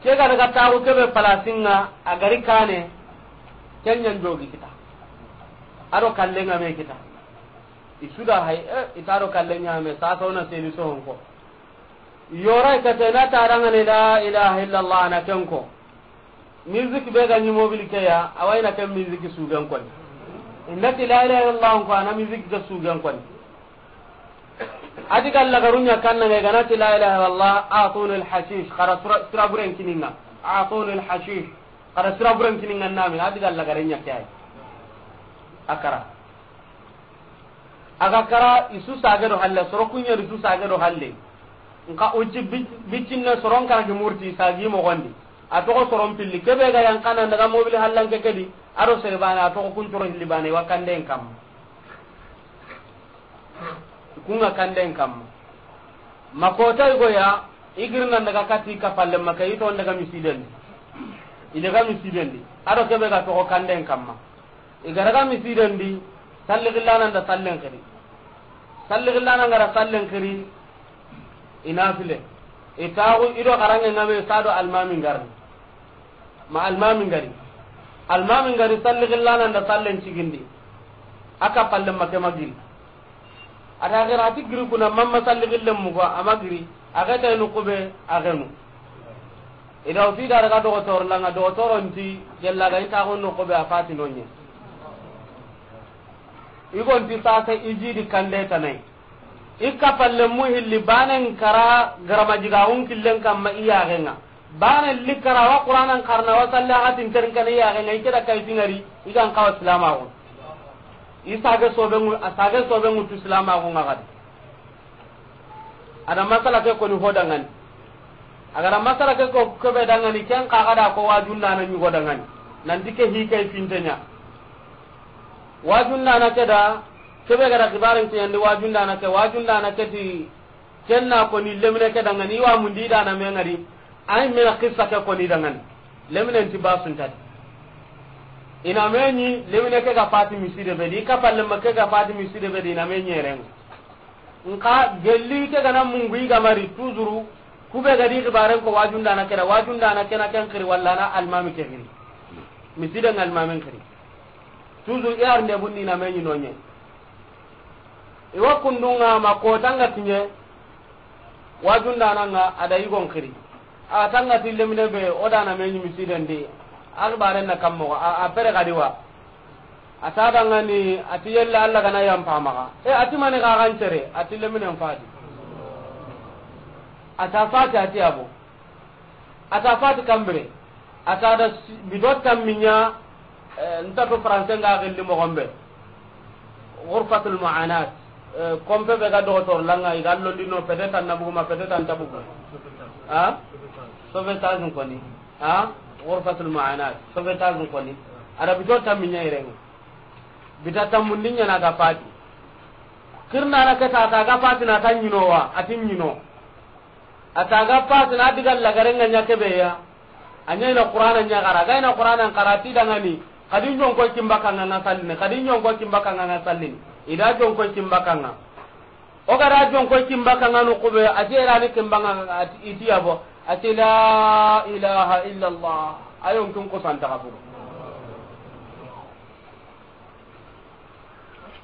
Ke ga daga taxu ke be palasin ŋa, a gari kane, ken ɲan jogi kita. A do kallen ŋa me kita. I su da hay, eh, i ta do kallen ɲa me, sa to na seli sohon ko. Yora i kate na tarangane la ilaha illallah na ken ko. Musique be ga ɲi mobili ke ya, a wa i na ken musique sugen koni. I na ti la ilaha illallah ko, a na musique ke sugen koni. A di ga lagaru ɲa kanna ga i ga na ti la ilaha illallah, atuni al hashish, xara sira, sira buren kini ŋa. Atuni al hashish, xara sira buren kini ŋa na mi, a di ga lagare ɲa ke ay. A kara. A ga kara, i su sage do halle, soro ku ɲa i su sage do halle. Nka uci bi-, bicinne soron kara ki murti sagi moxon di. A toxo soron pilli. Ke be ga yan kana daga mobili hallan ke ke di, a do sere bane, a toxo kun coro hilli bane, wa kanden kamma. Kun ŋa kanden kamma. Ma kota i go ya, i girna daga kati ka palle ma ke, i to daga misiden di. I daga misiden di. A do ke be ga toxo kanden kamma. I ga daga misiden di, salli gillana nda sallen xiri. Salli gillana ngara sallen xiri, i na file. I taxu i do xaranŋe ŋa me, sa do almami ngari. Ma almami ngari. Almami ngari salli gillana nda sallen cigindi. A ka palle ma ke ma giri. A ta xira a ti giri kuna mamma salli gillen mugo a ma giri. A xeta i nu kube a xenu. I da o ti da daga dogotor langa, dogotor o nti gella ga i taxu nu kube a fati no ɲe. I go nti sasa i ji di kande tanai. I ka palle mu hilli banen kara garama jiga un killen kamma i yaxen ŋa. Banen li kara wa Qur'anan karna wa salli a ga tin terin kana i yaxen ŋa, i ke da kay tingari, i gan kawa silamaxu. I sage sobe ŋu, a sage sobe ŋu tu silamaxu ŋa gadi. A da masala ke koni ho dangani. A ga da masala ke ko, ke be dangani, ken xa ga da ko wajundana ɲugo dangani. Nanti ke hi kay finte ɲa. Wajundana ke da, ke be ga da xibaren ke yandi wajundana ke, wajundana ke ti, ken na koni lemine ke dangani, i wa mundi dana me ŋari, ay mena qissa ke koni dangani. Lemine nti basun tadi. I na me ɲi, lemine ke ga fati miside be di, i ka palle ma ke ga fati miside be di, i na me ɲi eren. Nka gelli ke ga na mungu i ga mari, toujours, ku be ga di xibaren ko wajundana ke da, wajundana ke na ken xiri, walla na almami ke xiri. Miside ŋa almamin xiri. Toujours, i arnde bunni na me ɲi no ɲe. I wa kundunga ma kota nga kiɲe, wajundana nga a da i gon xiri. A tanga ti lemine be, o dana me ɲi misiden di, a xibaren na kammo, a, a pere gadi wa. A ta dangani, a ti yelle Alla gana yampa maxa. E, a ti mani xa gan cere, a ti leminen fati. A ta fati, a ti abo. A ta fati kambire. A ta da si-, bito tammiɲa, eh, nta to français nga gelli moxon be. Ghurfatul mu'anat. Eh, kompe be ga dogotor langa, i ga londi no, peut-être an na bugu ma, peut-être an ta bugu. Ha? Sauvetage koni. Ha? Ghurfatul mu'anat. Sauvetage koni. A da bito tammiɲa irenga. Bita tammundi ɲa na ga fati. Kirna na ke ta, ta ga fati na ta ɲino wa, a ti ɲino. A ta ga fati na diga lagare nga ɲa ke be ya. A ɲa i na Qur'ana ɲa xara. Ga i na Qur'ana xara ti dangani. Kadi jon ko kimba kanga nga sallini. Kadi jon ko kimba kanga nga sallini. I da jon ko kimba kanga. O ga da jon ko kimba kanga no kube. A ti era ni kimba nga a ti, i ti abo. A ti la ilaha illallah. Ayon kin ko santa kaburu.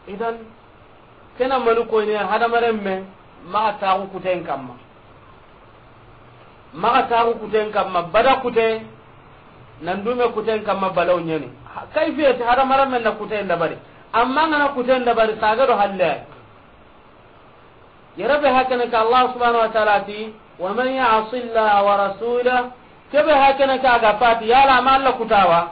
Idan, kena manu koyne hadamaren me, maxa taxu kuten kamma. Maxa taxu kuten kamma, bada kute, nan dume kuten kamma balaw ɲeni. Ha, kayfiyati hadamaren men na kuten dabari. Amma ngana kuten dabari, sage do halle. Yere be hakene ka Allah subhanahu wa ta'ala ti, "Wa man ya'si Allah wa rasulah," kebe hakene ka ga fati, yala ma Allah kutawa.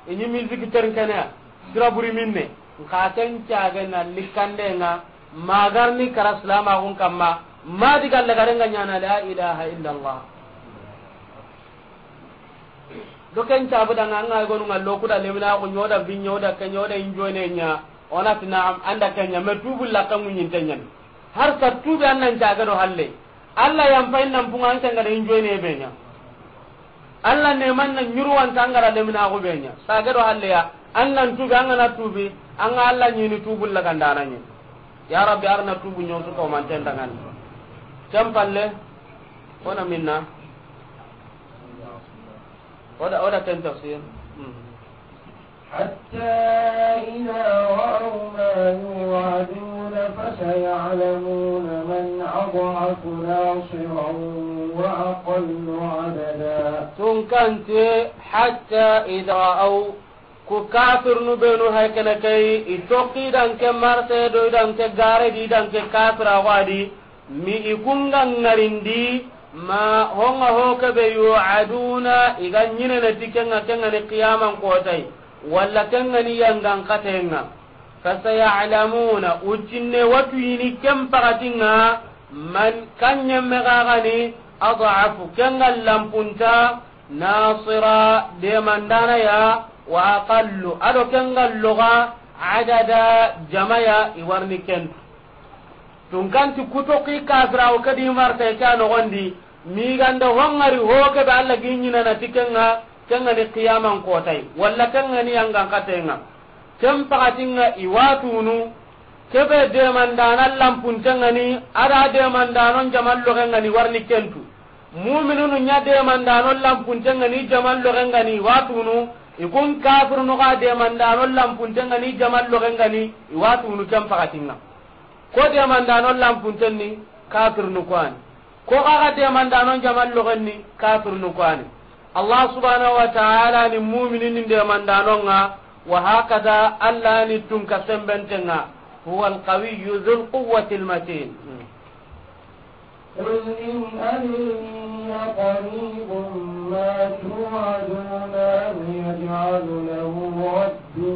Ini musique ternkene, sira buri minne. Nka ken cage na likande nga, magarni kara silamaxun kamma, ma diga lagare nga ɲana la ilaha illallah. Do ken cabu danga nga gonu nga loku da lemina ko ɲoda bi ɲoda ke ɲoda injoine ɲa. Ona ti na'am, anda ke ɲa, me tubu la ka munyin tenyan. Har sa tubi annan caga do halle. Allah yam pay nan punga an tanga da injoine be ɲa. Allah ne man na nyurwan tanga da lemina ko be ɲa. Saga do halle ya, annan tubi, an ga na tubi, an ga Allah ɲini tubu la kan dana ɲi. Ya Rabbi, arna tubu ɲosu ko manten dangani. Ken palle, ona minna. Oda, oda ken tafsir. Hmm. حتى إذا رأوا ما يوعدون فسيعلمون من أضعف ناصرا وأقل عددا. Tunkanti, حتى إذا رأوا Ku kafirnu benu hay kene kay, i toxi danke marte do danke gare di danke kafira wadi, mi i kunga ngarindi, ma honga ho kebe yu'aduna, i ga ɲinene ti kenga, kenga ni qiyaman kotay, walla kenga ni yangan katenga. Fasaya'lamuna, ucinne watu yini ken pakatinga, man kanyemme gagani, ad'afu, kenga lampunta, nasira, demandana ya, wa aqallu, ado kenga loga, adada, jamaya, i warni kentu. Tunkanti kutoki kafira o kadi marta ke a nogondi, miganda hongari ho kebe Allah gi ɲinana ti kenga, kenga ni qiyaman kotay, walla kenga ni yangan katenga. Ken pakatinga i watunu, kebe demandana lampuntengani, ada demandanon jamal logengani warni kentu. Muminunu ɲa demandano lampuntengani jamal logengani watunu, i kun kafirunu ga demandano lampuntengani jamal logengani watunu ken pakatinga. Ko demandano lampuntenni kafirunu kwani. Ko ga demandano jamal logenni kafirunu kwani. Allah subhanahu wa ta'ala ni muminin ni demandanonga, wa hakada Allah ni tunka sembentenga, huwa alqawiyyu dhul quwwati almatin. قل إن أدري أقريب ما توعدون أم يجعل له ربي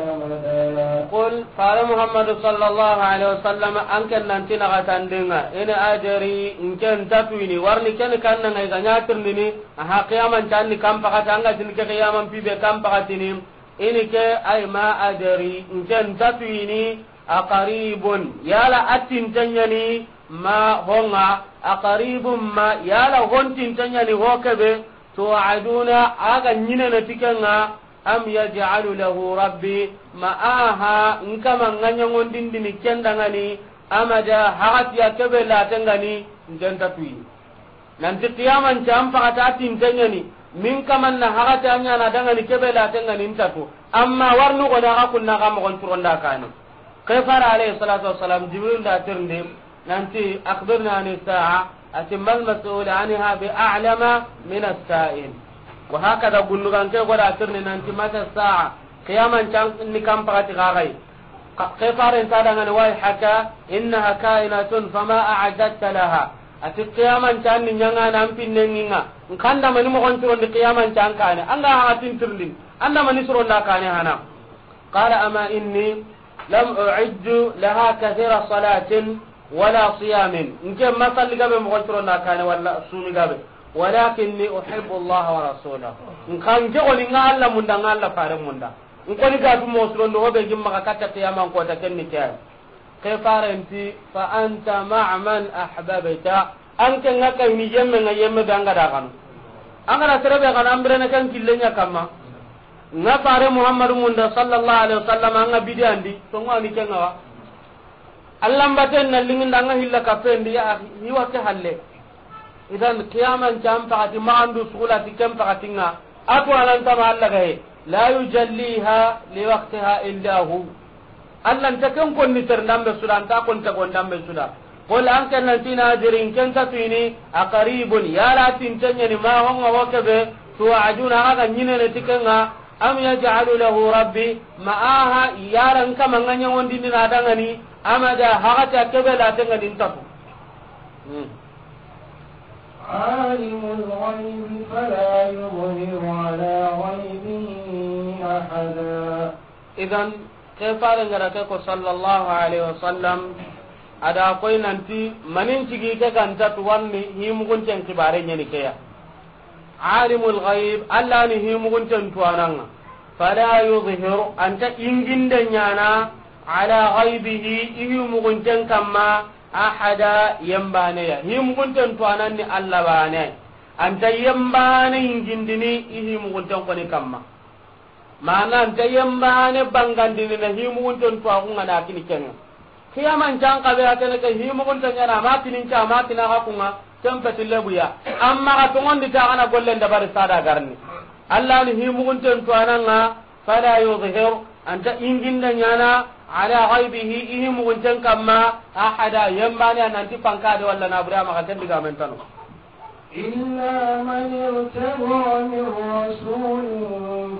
أمدا. Qul, fare Muhammadu sallallahu alaihi wasallam, an ken nanti na gatandinga, in adri, in ken tatwini, warni ken kannanga i ga ɲatirndini, aha, qiyaman canni kan pakati, an ga tini ke qiyaman pibe kan pakatini, ini ke ay ma adri, in ken tatwini, aqaribun, yala attintenyani, ma honga, aqaribun ma, yala hontintenyani ho kebe, tu'aduna, a ga ɲinene ti kenga, am yaj'alu lahu rabbi, ma aha, nkama nga ɲangondindini kendangani, amada, hagatiya kebe latengani, ngenta tuyi. Nanti qiyaman can pakata tintenyani, min kaman na hagati a ɲana dangani kebe latengani ntatu. Amma warnu gona ga kunna ga mogon turonda kane. Ke fara alayhi salatu wassalam, Jibril da tirndi, nanti, "Akhbirna ani sa'a," ati, "Mal mas'ul anha bi a'lama min as-sa'il." Wa hakada gundugan ke goda tirni nanti, "Mata sa'a?" Qiyaman can ni kan pakati gagai. Ka-, ke faren ta dangani, "Wayhaka, innaha ka'inatun, fama a'datta laha." Ati, "Qiyaman can ni ɲanga nan pinnenginga. Nkanda mani mogon turondi qiyaman can kane. Anga ha tintirndin. Anda mani suronda kane hana." Qala, "Ama inni lam u'iddu laha kathira salatin wala siyamin." Nke ma salli gabe mogon turonda kane wala sumi gabe. "Walakinni uhibbu Allah wa rasulahu." Nkan ke goni nga Allah munda, nga Allah fare munda. Nkoni ga tu mo surondo hobe gimma ka katta qiyaman kota kenni kay. Ke farenti, "Fa anta ma'a man ahbabta." An ke nga kay ni yemme nga yemme be anga da kanu. Anga da serebe kana ambirene kan killenya kamma. Nga fare Muhammadu munda sallallahu alaihi wasallam anga bidandi, to ngani kenga wa. Allah mbaten na linginda anga hilla kapendi ya akhi, ni wa ke halle. Idan qiyaman can pakati ma andu sugula ti ken pakatinga. Atu anan tama Allah gaye. La yujalliha li waqtiha illa hu. Allah nta ken konni ter ndambe suda, nta kon ta kon ndambe suda. Qul, an ken nanti na dirin ken ta tuini, aqaribun, yala tintenyani ma honga wo kebe, tu'aduna, aga ɲinene ti kenga, am yaj'alu lahu rabbi, ma aha, yala nkama nga ɲangondini na dangani, amada, hagati a kebe latengani ntaku. Hmm. عالم الغيب فلا يظهر على غيبه أحدا. Idan, ke fare ngara ke ko sallallahu alaihi wasallam, ada koy nanti, manin cigi ke ganta tuwanni, himugunten kibare ɲeni keya. Alimul ghaib, Allah ni himugunten tuwananga. Fala yuzhiru, anta inginde ɲana, ala ghaibihi, i himugunten kamma, ahada, yembane ya. Himugunten tuwananni Allah bane. Anta yembane ingindini, i himugunten koni kamma. Mana anta yembane bangandini na himugunten tuwaxunga na kini kenga. Xiyaman can kabe a kene ke himuxunte ɲana, a ma kinin ca, a ma kina xa kunŋa, ken petille buya. Amma xa toŋondi ta xa na gollen dabari sada garni. Allah ni himuxunten tuwananŋa, fala yuzhir, anta inginde ɲana, ala ghaibihi, i himuxunten kamma, ahada, yembane a nanti pankade walla na bure a maxa ken digamen tano. إلا من ارتضى من رسول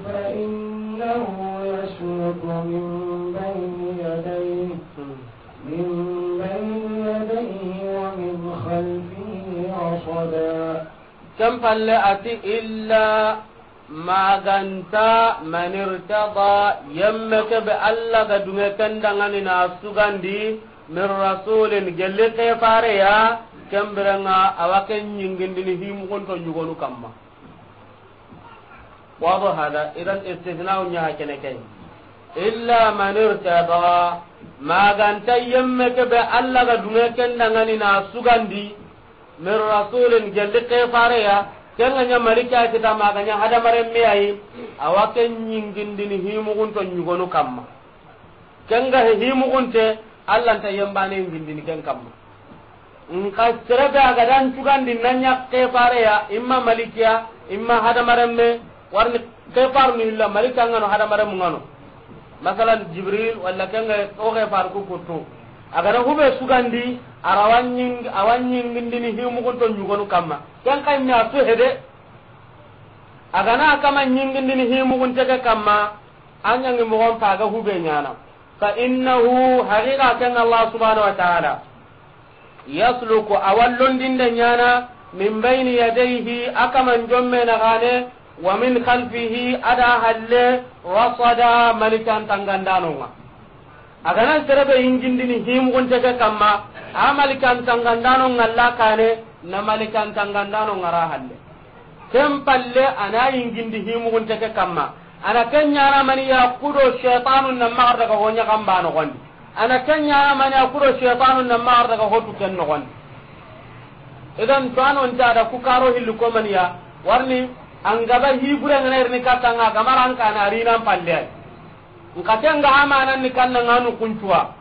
فإنه يسلك من بين يديه، من بين يديه ومن خلفه رصدا. Ken palle a ti, illa maganta man irtada, yemme ke be Allah ga dunge ken dangani na sugandi, min rasulin, gelli ke fare ya, ken birenga a wa ken ɲingindini himuxunto ɲugonu kamma. Wado hada, idan istisna'u ɲa ha kene ken. Illa man irtada, maganta yemme ke be Allah ga dunge ken dangani na sugandi, min rasulin, gelli ke fare ya, ken ga ɲa malika kita, ma ga ɲa hadamaren me ayi, a wa ken ɲingindini himuxunto ɲugonu kamma. Ken ga he himuxunte, Allah nta yembane ngindini ken kamma. Nka sere be a ga dan cugandi na ɲa ke fare ya, imma malikiya, imma hadamaren me, warni ke faru ni illa malika ngano, hadamaren mu ngano. Masalan, Jibril, walla ken ga o ke faru ku kuttu. A ga na hube sugandi, a ra wa ɲing-, a wa ɲingindini himuxunto ɲugonu kamma. Ken kay mi a su hede. A ga na kama ɲingindini himuxunte ke kamma, a ɲangi moxon pa ga hube ɲana. Fa innahu, haqiqa ken Allah subhanahu wa ta'ala, yasluku, a wa londinde ɲana, min bayni yadayhi, a kaman jomme na gane, wa min khalfihi, a da halle, rasada, malikan tangandanonga. A ga na sere be yingindini himuxunte ke kamma, a malikan tangandano ngalla kane, na malikan tangandano ngara halle. Ken palle a na yingindi himuxunte ke kamma. A na ken ɲana mani ya kudo shaytanu na magar daga honya kamba noxondi. A na ken ɲana mani ya kudo shaytanu na magar daga hotu ken noxondi. Idan to ano nta da ku karo hillu ko mani ya, warni an gaba hibure ngana irni katanga gamaran kana rinan palle ay. Nka ken ga amanan ni kanna nganu kuncuwa.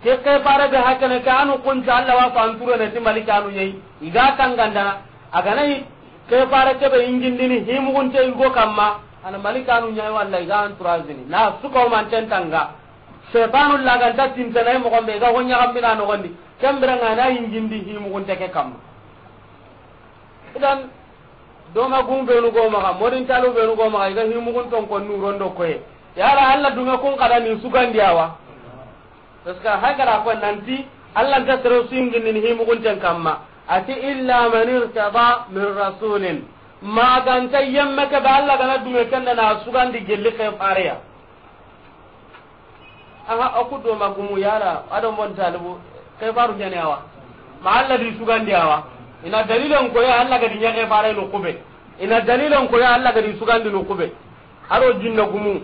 Ke ke fare be hakene ke anu kuncu Allah wa fanture ne ti malikanu ɲei. I ga tangandana. A ga na yi ke fare ke be ingindini himuxunte yugo kamma. A na malikanu ɲei walla i ga anturazini. Na suka o manten tanga. Shaytanu laganta tintana i moxon be i ga honya gambina noxondi. Ken birenga na ingindi himuxunte ke kamma. Idan, doma gum benu go maxa, modin talu benu go maxa, i ga himuxun ton kon nuron do koye. Yala Allah dunga kun kada ni sugandi awa. Parce que hagara ko nanti, Allah nta sero singini ni himuxunten kamma. A ti, illa man irtada min rasulin. Maganta yemme ke be Allah ga na dunge kenda na sugandi gelli ke fareya. Aha, o ku do ma gumu yala, ado mon talibu, ke faru ɲani awa. Ma Allah di sugandi awa. Ina dalilan ko ya Allah ga di ɲa ke fare no kube. Ina dalilan ko ya Allah ga di sugandi no kube. Aro jinna gumu,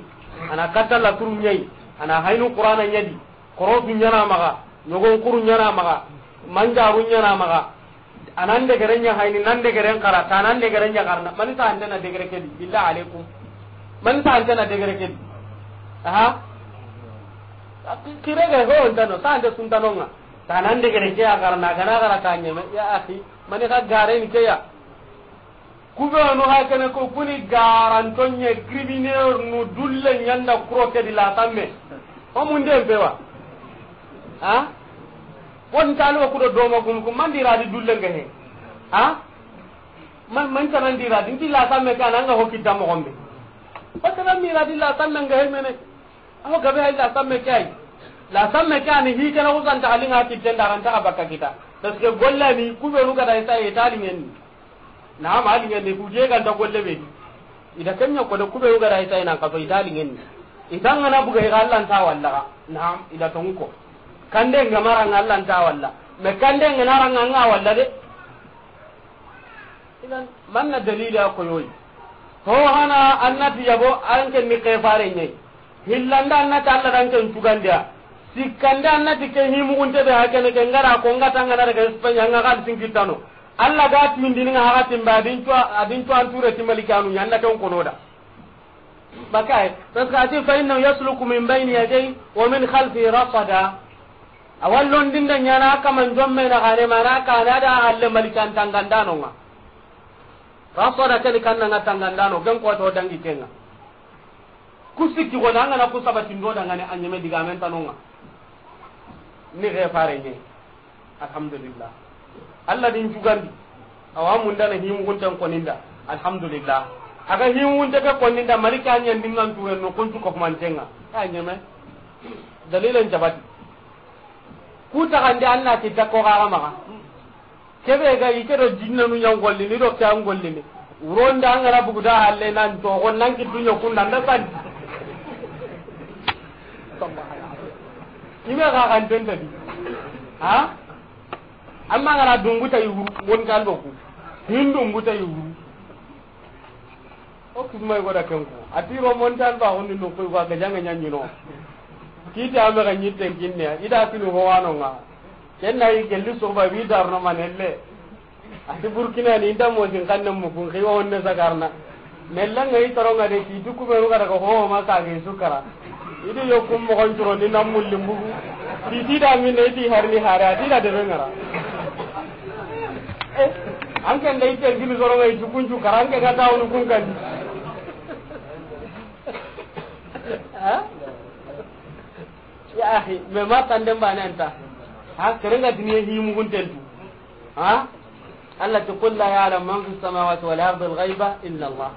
a na katta la turu ɲai, a na haynu Qur'ana ɲadi, korotu ɲana maxa, ɲogon kuru ɲana maxa, manjaru ɲana maxa. A nan degere ɲa hayni, nan degeren xara, ta nan degere ɲa xarna. Mani ta antena degere kedi, billah alaikum. Mani ta antena degere kedi. Aha. Kire ga ho ontano, ta ante suntanonga. Ta nan degere ke a xarna, gana xara ta ɲeme. Ya akhi, mani xa gare ni ke ya. Kubenu xa kene ko kuni garanto ɲe criminel nu dulle ɲanda kuro kedi la tamme. O munde mpewa. Ha? Won tali wa kudo doma gum kum mandi radi dulle nga he. Ha? Man, man tanan di radi, nti la samme ke a na nga hokki da moxon be. Parce que mi radi la samme nga he mene. Aho gabe hay la samme ke ay. La samme ke ani hi kana usan ta alinga ki tenda kan ta baka kita. Parce que gollani kubenu ga da isa e tali ngen. Naam, a liŋen ni, ku je ganta golle be. Ida kenya ko de kube yoga da ita ina ka to ita liŋen ni. Ita ngana buga i ga Allah nta walla ga. Naam, ida tonko. Kande ngama ra nga Allah nta walla. Me kande ngana ra nga nga walla de. Idan, manna dalili a ko yoyi. Ho hana annati yabo, an ken ni ke fare ɲai. Hillanda annati Allah dan ken tugandiya. Sikkande annati ke himugunte be hakene ke ngara ko ngata ngana daga Espagne nga kal sinkitano. Allah ga tindini nga hakatin ba adin cuwa, adin cuwa anture ti malikanu ɲanna ken kono da. Bakay, parce que a ti, "Fa innahu yasluku min bayni yadayhi wa min khalfihi rasada." A wa londinda ɲaana a kaman jomme na gane, mana kana da halle malikan tangandano ŋa. Rasada ke ni kanna ŋa tangandano, ken ko to dangi ke ŋa. Ku sikki go na ŋa na ku sabatindo dangane a ɲeme digamen tano ŋa. Ni ge fare ɲe. Alhamdulillah. Allah din jugandi. Awa mundana himugunten koninda. Alhamdulillah. Aga himugunte ke koninda, malika ɲandingan turen no kuntu ko mantenga. A ɲeme. Dalilen jabati. Ku taxandi an na kitta ko xaxa maxa. Kebe ga i ke do jinnanu ɲa gollini do ke an gollini. Wuronda an ga na bugu da halle nan to xo nan ki dunya kunda nda san. Ime ga kan tenta di. Ha? Amma ga na dungu ta yuru won kan do ku. Hin dungu ta yuru. O kisma yugo da ken ko. A ti ro montan ba honni no ko ga janga ɲaɲino. Kiti ame ga ɲitten kinne. I da kinu ho wano ŋa. Ken na yi gelli soba wi darno manelle. A ti Burkina ni inda mo sin kanne mu kun xiwa wonne sagarna. Nella ŋa i toro ŋa de ti du ku be ru ga daga ho ma sa ga i su kara. I di yo kum mo gon turo ni na mulli mbugu. Ti ti da min ne ti harni hare a ti da de be ŋara. Eh, an ken da i te gini soro ŋa i ju kun ju kara an ke ga tawnu kun kan. Ha? Ya akhi, me ma tanden bane anta. Ha, serenga diniye himugunten tu. Ha? Allah ti, "Qul la ya'lamu man fis samawati wal ardi al ghaiba illa Allah."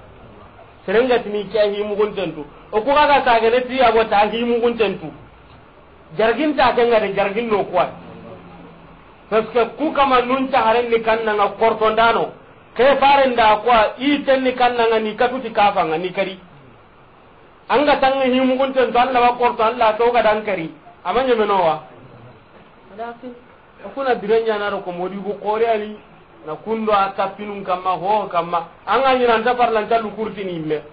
Serenga tini ke himugunten tu. O ku ga sagane ti ya go ta himugunten tu. Jarginta ke ŋa de jargin no kuwa. Parce que ku kama nun ta haren ni kanna ŋa kortondano. Ke faren da kuwa i ten ni kanna ŋa ni katuti kafa ŋa ni kari. An ga tanga himugunten to, Allah wa korto, Allah to ga dan kari. Ama ɲemenowa. Lakin, o kuna bire ɲana ro ko modi bu kore ani, na kundo a kapinun kamma, ho kamma. An ga ɲina nta parlan ta lukurtini imme.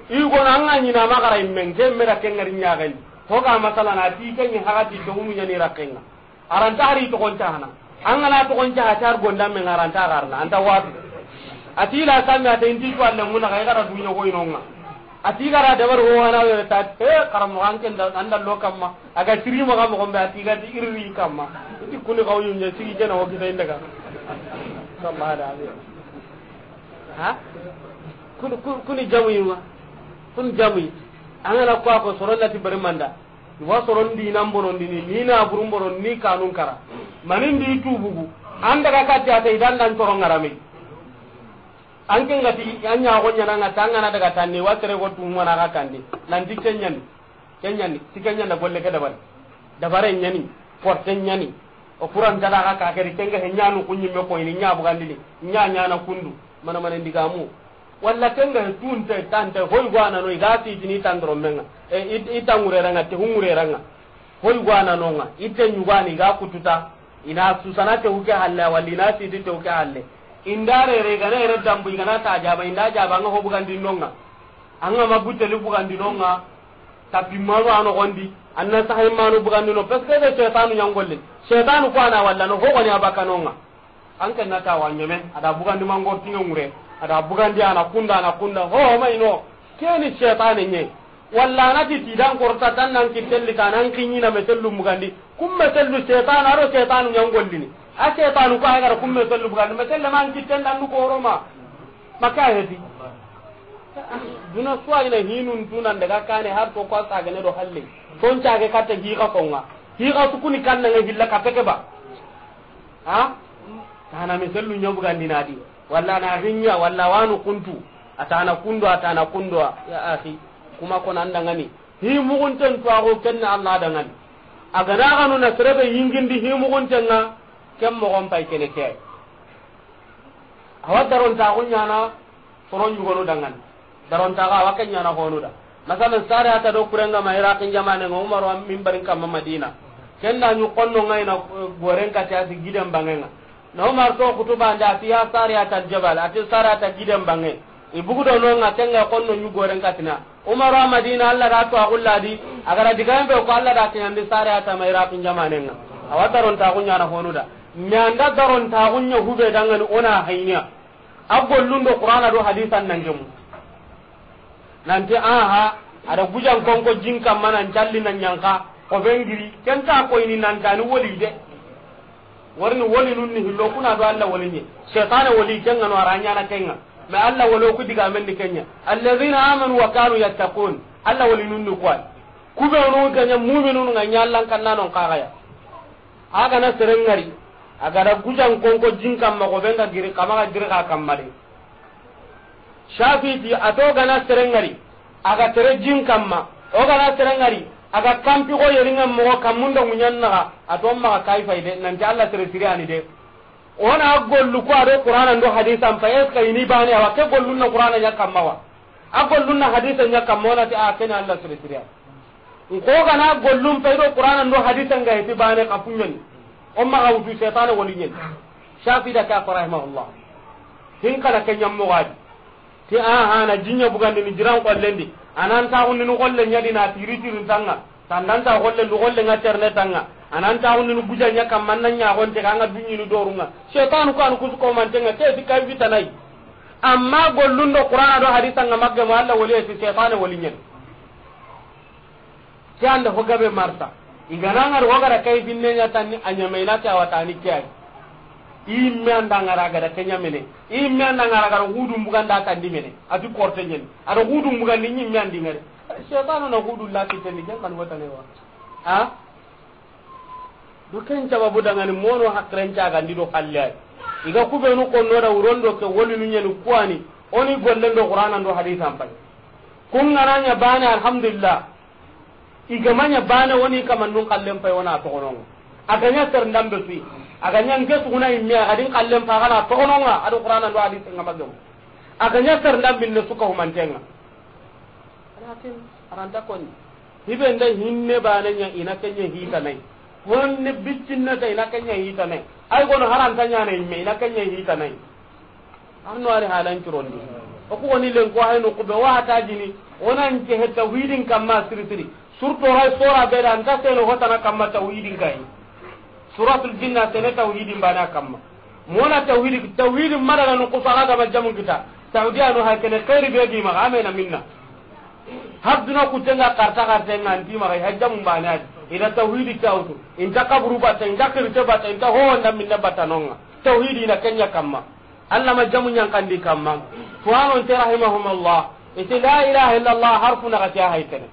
I go na an ga ɲina ma gara imme, ke me da ke ŋari ɲagani. Ho ga masala na ti ke ni hagati to unu ɲani rakenga. Aranta hari togon cahana. An ga na togon caha tar gonda men aranta garna. Anta watu. A ti la sami a ta inti to Allah muna ga gara dunya go inonga. A ti gara dabar ho wana wala ta, eh, karamo an ken da, anda lo kamma. Aga tiri mo ga mo gombe a ti ga ti irri kamma. Ti kuni ga wuyun je sigi jena o kita indaga. Sallallahu alaihi. Ha? Kun, kun, kuni jamu yuma. Kun jamu. An ga na ko ko soron lati bari manda. I wa soron dinan bonondini, ni na burun bonon, ni kanun kara. Manin di tubugu. An daga katti a ta idan dan toron ŋarame. An ke ngati an ɲa go ɲana ŋa tangana daga tanni wa tere go tumana ga kandi. Nan ti kenyani. Kenyani, ti kenyana golle ke dabari. Dabare ɲani, porte ɲani. O kuran tala ga ka keri kenga he ɲanu kunyi me ko ini ɲa bugandini. Ɲa ɲana kundu. Mana mana ndigamu. Walla kenga he tunte tante hoy gwana no iga sitini tandoro menga. E, i, i tangure ranga, te hungure ranga. Hoy gwana no nga. Ite nyugani ga kututa. Ina susana te uke halle, walla ina siti te uke halle. Indare re gana ere dambu igana ta jaba, inda jaba nga ho bugandi nonga. Anga ma buteli bugandi nonga. Tapi manu ano gondi. Anna sahay manu bugandi no. Parce que be shaytanu nyangolli. Shaytanu ko ana walla no ho goni abaka nonga. An ke na ta wa ɲeme, a da bugandi mangor tiŋe ŋure, a da bugandi ana kunda, ana kunda, ho, ho ma ino, keni shaytane ɲe. Walla na ti ti dan korta tan nan kitelli ta nan kiɲina mesellu bugandi, kum mesellu shaytan, a do shaytanu ɲangollini. A shaytanu ko ay gara kum mesellu bugandi, meselle man kitten dan du koroma. Maka hedi. Duna suwa ina hinun tunan daga kane har to ko sagane do halle. Ton cage katta higa konga. Higa sukuni kanna nga hilla ka peke ba. Ha? Tana misallu ɲa bugandi na di. Walla na hinya, walla wanu kuntu. Atana kundo, atana kundo. Ya akhi, kuma ko nan dangani. Hi mugunten to ago kenna Allah dangani. A gana ganu na serebe yingindi hi mugunten nga, ken mogon pay kene ke. Awa daron ta gunyana, soron yugonu dangani. Darontaxa, a wa ke ɲana honuda. Masalan, Sariyata do kurenga ma Iraqin jamanen ŋa, Umaru an minbarin kamma Madina. Ken da ɲu xonno ŋa ina, eh, goren kati a si giden bangenga. Na Umar to xutuba nda a ti, "Ya Sariyata al-jabal," a ti, "Sariyata giden bange." I bugu do nonga, kenga xonno ɲu goren katina. Umaru a Madina, Allah da to a gulladi, a gara digayen be ko Allah da kiɲandi Sariyata ma Iraqin jamanen ŋa. A wa darontaxu ɲana honuda. Mi anda darontaxu ɲa hube dangani ona hayniya. A gollun do Qur'ana do hadisan nan gemu. Nanti, aha, a da gujan konko jin kamma nan calli na ɲanka, ko ben giri, ken ta koyini nan ta ni woli de. Warni wolinun ni hillo kuna do Alla woli ɲi. Setane woli ken ŋa no a ra ɲaana ken ŋa. Mais Alla wolo ku digamen ni ken ɲa. Alladhina amanu wa kanu yattaqun. Alla wolinun ni kuwa. Ku be no ga ɲa mu'minun ŋa ɲa Alla kan na non kaga ya. A ga na seren ŋari, a ga da gujan konko jin kamma ko ben ga giri, kama ga giri ka kamma de. Shafi ti, a to ga na seren ŋari, a ga tere jin kamma, o ga na seren ŋari, a ga kampi ko yeringa mogo kammun do ŋuɲan naga, a to maga kay fay de, nanti Alla sere siri ani de. O na gollu ko a do Qur'ana ndo hadisa n pay, est-ce que i ni bane a wa ke gollun na Qur'ana ɲa kamma wa? A gollun na hadisa ɲa kamma, o na ti a ken Alla sere siri ani. N ko ga na gollun pay do Qur'ana ndo hadisa n ga heti bane ka puɲani. O maga wutu setane woli ɲen. Shafi da ka ko rahimahullah. Hin kana ke ɲammo gadi. Ti aha na jinya bugandi ni jiran kollendi. Anan ta hunni ni kolle ɲadi na tiri tirin tanga. Tandanta kolle lu kolle ŋa terne tanga. Anan ta hunni ni buja ɲa kamma na ɲa gonte ka ŋa dunyi ni dorunga. Setanu ko an kusu ko mantenga ke ti kay fitanai. Amma gollun do Qur'ana do hadisa ŋa magge mo Alla woli ti setane woli ɲen. Ke anda ho gabe marsa. I ga na ŋari ho ga da kay binne ɲa tanni a ɲamena ke a wa tani ke ay. I me anda ŋara ga da ke ɲamene. I me anda ŋara ga da hudun buganda tandi mene. A ti korte ɲen. A da hudun bugandi ɲi me andi ŋari. Setanu na hudun lati tani ken kan wata ne wa. Ha? Do ken sababu dangani mono hakren cagandi do halle ay. I ga kubenu konno da wuron do ke wolinu ɲeni kuwani, o ni gollen do Qur'ana ndo hadisa n pay. Kun ga na ɲa bane, alhamdulillah. I ga ma ɲa bane, o ni kamannun kallen pay, o na toxononga. A ga ɲa seren dambe suyi. A ga ɲa nke suguna imme, a ga din kallen pa, a ga na toxononga, a do Qur'ana ndo hadisa ŋa magemu. A ga ɲa seren dambe ne suka humantenga. Lakin, aranta koni. Hibe nda hinne bane ɲa ina ke ɲa hitanai. Honne biccinna ta ina ke ɲa hitanai. Ay gono haranta ɲa na imme ina ke ɲa hitanai. Arno ari halan curondi. O ku woni len ko hayno kube wa ta jini. Onan ke he tawhidin kamma siri siri. Surtout ray sora be da anta seno hotana kamma tawhidin kai. Suratul Jinna sene tawhidin bana kamma. Mona tawhidi, tawhidi madaga no kusa ga ma jamun kita. Tawhidi anu ha kene khairi be gi ma amena minna. Habduna kutenga karta kartenga anti ma ha jamun bana. Ina tawhidi tawtu. Inta kaburu bata, inta kirte bata, inta ho nda minna bata nonga. Tawhidi na kenya kamma. Alla ma jamu ɲankandi kamma. Fuwanon te rahimahumullah. Iti la ilaha illallah harfu na gati a hay kene.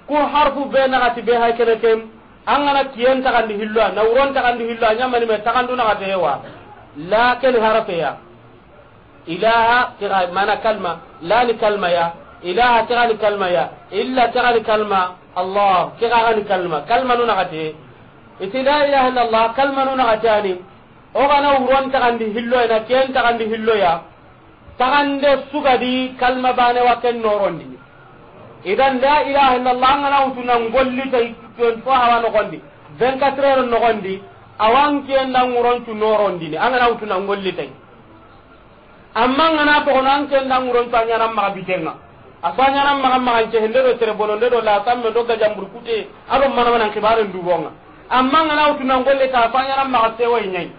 Ku harfu be na gati be hay kene kem. An ga na kiyen taxandi hillo, na wuron taxandi hillo, a ɲamani me taxandu na gati hewa. La ken harfe ya. Ilaha kira mana kalma, la ni kalma ya. Ilaha kira ni kalma ya. Illa kira ni kalma. Allah kira ni kalma. Kalma nu na gati. Iti la ilaha illallah kalma nu na gati ani. O ga na wuron taxandi hillo, ina ken taxandi hillo ya. Taxande sugadi kalma bane wa ken norondini. Idan la ilaha illallah an ga na wutu na ngolli tay, ken fo hawa noxondi. Vingt-quatre heures noxondi. Awan ken da wuron cu norondini. An ga na wutu na ngolli tay. Amma an ga na toxono an ken da wuron cu a ɲana maxa bitenga. A fa ɲana maxa maxa nce hende do tere bono nde do la samme do gajambur kute. A do mana mana xibaren dubonga. Amma an ga na wutu na ngolle ta fa ɲana maxa sewa ɲai.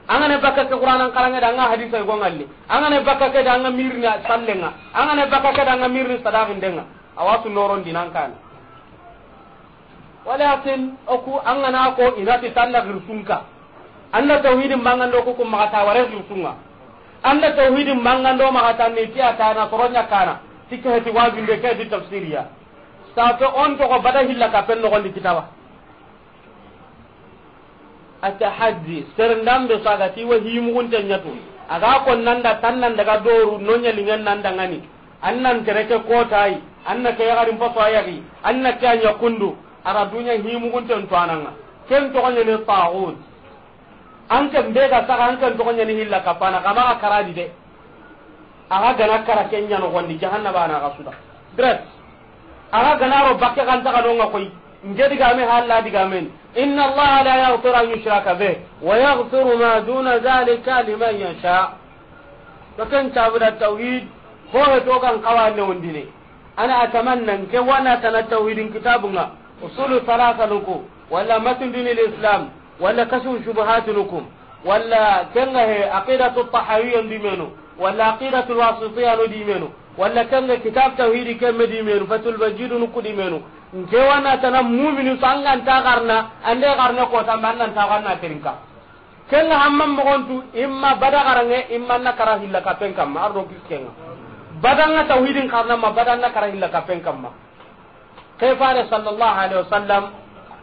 An ga ne bakka ke Qur'anan karange da an ga hadisa go ngalle. An ga ne bakka ke da an ga mirni sallenga. An ga ne bakka ke da an ga mirni sadaqindenga. Awa su noron dinan kan. Walakin oku an ga na ko inati tanda girsunka. Anda tawhidin bangando ko ko maxa ta ware girsunga. Anda tawhidin bangando maxa ta ni tiya ta na soronya kana. Tikke heti wajunde ke di tafsiriya. Sa to on to ko bada hilla ka pen no gondi kitaba. Atahaddi, serendambe so a ga ti wa himugunte ɲatu. A ga ko nanda tan nan daga doru no ɲalingen nan dangani. An nan tereke kotayi, an na ke yagarin paso a yagi, an na ke a ɲa kundu, a ra duɲa himugunten to ananga. Ken toxo ɲani taxut. An ken be ga saga, an ken toxo ɲani hilla kapana, kama ga karadi de. A ga gana kara ken ɲa noxondi, jahannaba na ga suda. Direct. A ga gana ro bakke kan taga nonga koy. Nge digame halla digamen. Inna Allah la yaghfiru an yushraka bih wa yaghfiru ma duna dhalika liman yasha. To ken tabuda tawhid, ho he to kan kawane undine. Ana atamanna nke wana tana tawhidin kitabunga. Usulu thalatha nuku, wala matn dinil Islam, wala kashfu shubuhat nuku, wala kenga he aqidatu tahawiyya dimenu, wala aqidatu wasitiyya dimenu. Walla ken ga kitab tawhidi ke me di menu, Fathul Majidunu ku di menu. Nke wa na tana mumini su an ga nta xarana, an da xarana ko tamba an na nta xarana terinka. Ken ga hamman moxon tu, imma bada xaranŋe, imma na kara hilla kapen kamma, ardo kiskenga. Bada nga tawhidin xarana ma, bada na kara hilla kapen kamma. Ke fare sallallahu alaihi wasallam,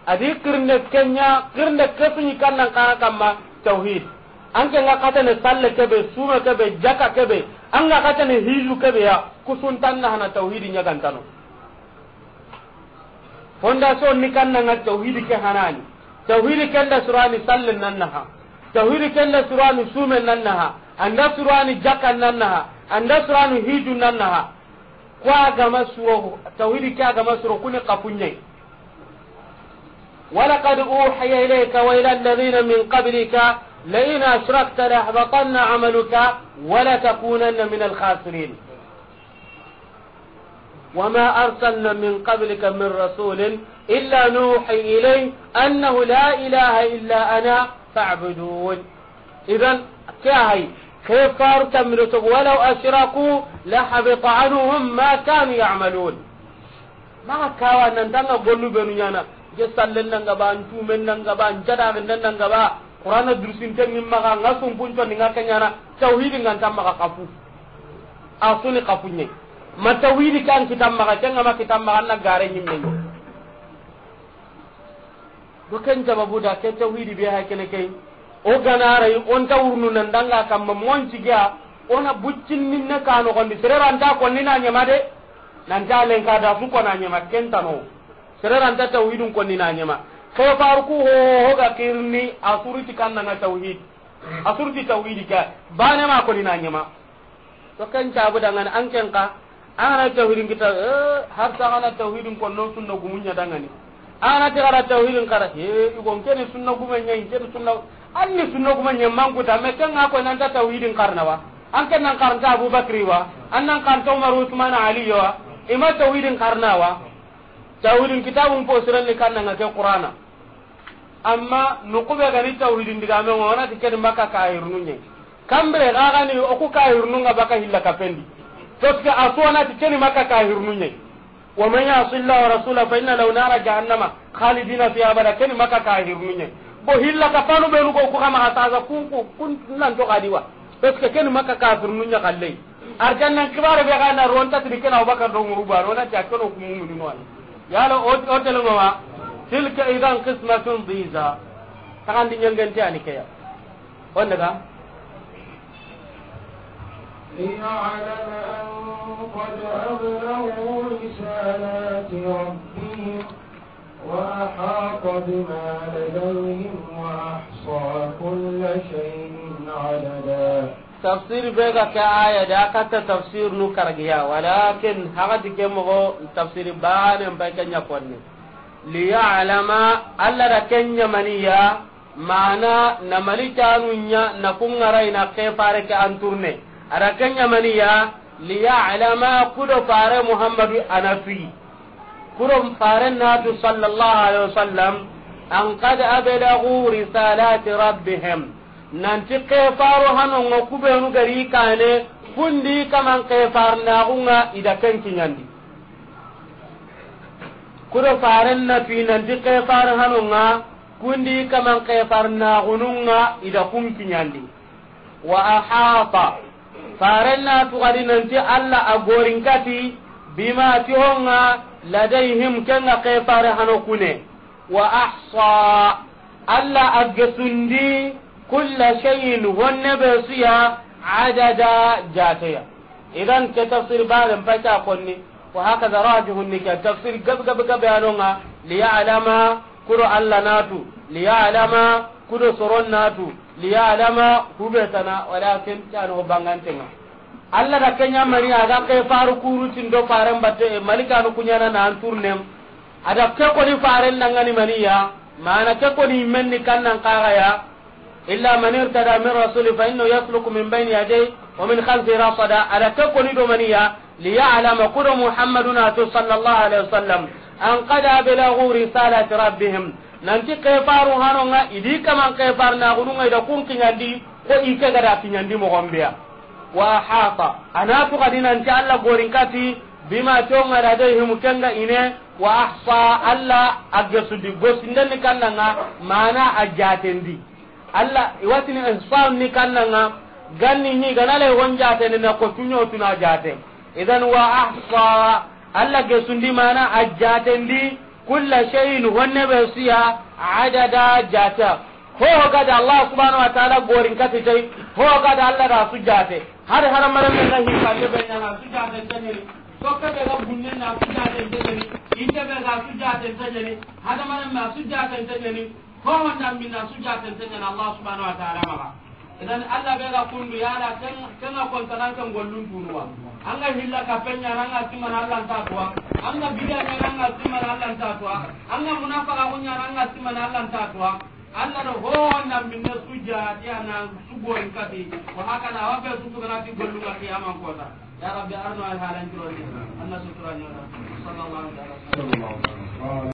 a di kirnde kenya, kirnde kesu ni kannan xara kamma, tawhid. An ke nga katane salle kebe, suma kebe, jaka kebe, an ga katane hiju kebe ya, kusuntan na hana tawhidi ɲagantano. Fondation ni kannan nga tawhidi ke hanani. Tawhidi kenda surani salle nan naha. Tawhidi kenda surani sume nan naha. An da surani jaka nan naha. An da surani hiju nan naha. Ko a ga ma suro, tawhidi ke a ga ma suro kuni kapunye. ولقد أوحي إليك وإلى الذين من قبلك لئن أشركت ليحبطن عملك ولتكونن من الخاسرين. وما أرسلنا من قبلك من رسول إلا نوحي إليه أنه لا إله إلا أنا فاعبدون. Idan, ke a hay, ke faru tamiro to, ولو أشركوا لحبط عنهم ما كانوا يعملون. Maxa kawa nan tanga gollu benu ɲana, je sallen nan gaba, an tumen nan gaba, an jada nan nan gaba, Qur'ana dursin ten ni maxa, nga sumpun ton nga kenyana, tawhidi ngan tam maxa kafu. A suni kafunye. Ma tawhidi kan kitam maxa, kenga ma kitam maxa, na gare nyimme. Do ken sababu da ke tawhidi be ha kene ke. O gana ray on ta wurnu nan danga kamma monci ga ona buccin ninne kano gondi sereranta ko ni na nyama de. Nan ta len ka da su ko na nyama ken tano. Sereranta tawhidun ko ni na nyama. Ke faru ku ho ho ga kirni asuriti kan na tawhid. Asuriti tawhidi ka. Bane ma ko ni na nyama. To ken cabu dangan an ken ka, an na tawhidin kita, eh, har ta ana tawhidin ko no sunna gumunya dangani. An na ta gara tawhidin kara, eh, igon kene sunna gumunya, kene sunna, anni sunna gumunya mangu ta, me ken ko nan ta tawhidin karna wa. An ken nan karanta Abu Bakri wa, an nan karanta Umar, Usman, Ali wa. Ima tawhidin karna wa. Tawhidin kitabun po siran ni kanna nga ke Qur'ana. Amma nukube gani tawhidin digame ŋo, wona ti keni Makka kahirnu ɲe. Kambire ga gani oku kahirnu nga baka hilla kapendi. Parce que a su wona ti keni Makka kahirnu ɲe. ومن يعص الله ورسوله فإن له نار جهنم خالدين فيها أبدا, keni Makka kahirnu ɲe. Bo hilla kapanu benu ko ku kama asaza kun, kun, kun nan to kadiwa. Parce que keni Makka kahirnu ɲa kallei. Arjannan kibare be ga na ronta tini kena Abubakar do Umaru ba, rona ti a keno ku muminu no. Yalo o, o tele no wa. تلك إذا قسمة ضيزى. Tagandi ɲangente ani keya. On daga. ليعلم أن قد أبلغوا رسالات ربهم وأحاط بما لديهم وأحصى كل شيء عددا. Tafsir be ga ke aya da katta tafsir nu kargiya, walakin hagati ke mogo tafsir bane mbai kenya konni. Liya'lama, Allah da kenya maniya, mana na malikanu nya na kungarai na kefare ke anturne. Ada kenya maniya, liya'lama, kudo fare Muhammadu anatui. Kuro faren natu sallallahu alaihi wasallam, an qad ablagu risalati rabbihim. Nanti kefaru hanonga kubenu gari kane, kundi kaman kefar nagunga ida ken kinyandi. Kuro faren natu nanti kefar hanonga, kundi kaman kefar nagununga ida kun kinyandi. Wa ahata. Faren na tugadi nanti Allah a gorinkati bima ti honga ladayhim kenga kefare hano kune. Wa ahsa. Allah a gesundi kulla shay'in honne be suya adada jateya. Idan ke tafsir baren pata konni. Wa hakaza rajihun ni ke tafsir gab gab gab anonga liya'lama. Kuro Allah natu, liya'lama, kudo soron natu, liya'lama, hubetana, walakin tano bangantenga. Allah da kenya mani aga ke faru kuru tindo faren batte, e, malikanu kunyana na anturnem. Ada ke koni faren nangani maniya, mana ke koni menni kannan kagaya, إلا من ارتضى من رسول فإنه يسلك من بين يديه ومن خلفه رصدا. Ada ke koni do maniya, liya'lama kudo Muhammaduna to sallallahu alaihi wasallam, an qad ablagu risalati rabbihim. Nanti kefaru hanonga, idi kaman kefar nagununga ida kun kinyandi, ko ike gada kinyandi mogombeya. Wa ahata, a na tu xadi nanti Alla gorin kati, bima, ti o ŋa da, ladayhim, ken ga i ne, wa ahsa, Alla a gesundi, gesunden ni kannan ŋa, mana a jatendi. Alla, i wa tini ihsa ni kannan ŋa, ganni hi, ga na lay hon jatendi na ko tuɲo tuna jate. Idan wa ahsa, Alla gesundi mana a jatendi, kulla shay'in, honne be su ya, adada, jate. Ho ho ga da Allah subhanahu wa ta'ala gorin kati tay, ho ho ga da Alla da su jate. Hari hadamarenme ga hi kalle be ɲa na su jate tanyani. Sokke be ga bunne na su jate tanyani. Inte be ga su jate tanyani. Hadamarenme su jate tanyani. Ho ho nda minna su jate tanyani Allah subhanahu wa ta'ala maxa. Idan Alla be ga kundu yala ken, ken ga kontanan ken gollun tunuwa. An ga hilla ka penya na, an ga simana Alla nta tuwa. An ga bidiya na, an ga simana Alla nta tuwa. An ga munafaka kunya na, an ga simana Alla nta tuwa. Alla do ho na minne su jate, a na su gorin kati. Wa hakada, wa be su tugana ti gollu ga kiyaman kota. Ya Rabbi, arno ay halan jironi. Anna sutura nyoda. Sallallahu alaihi wasallam.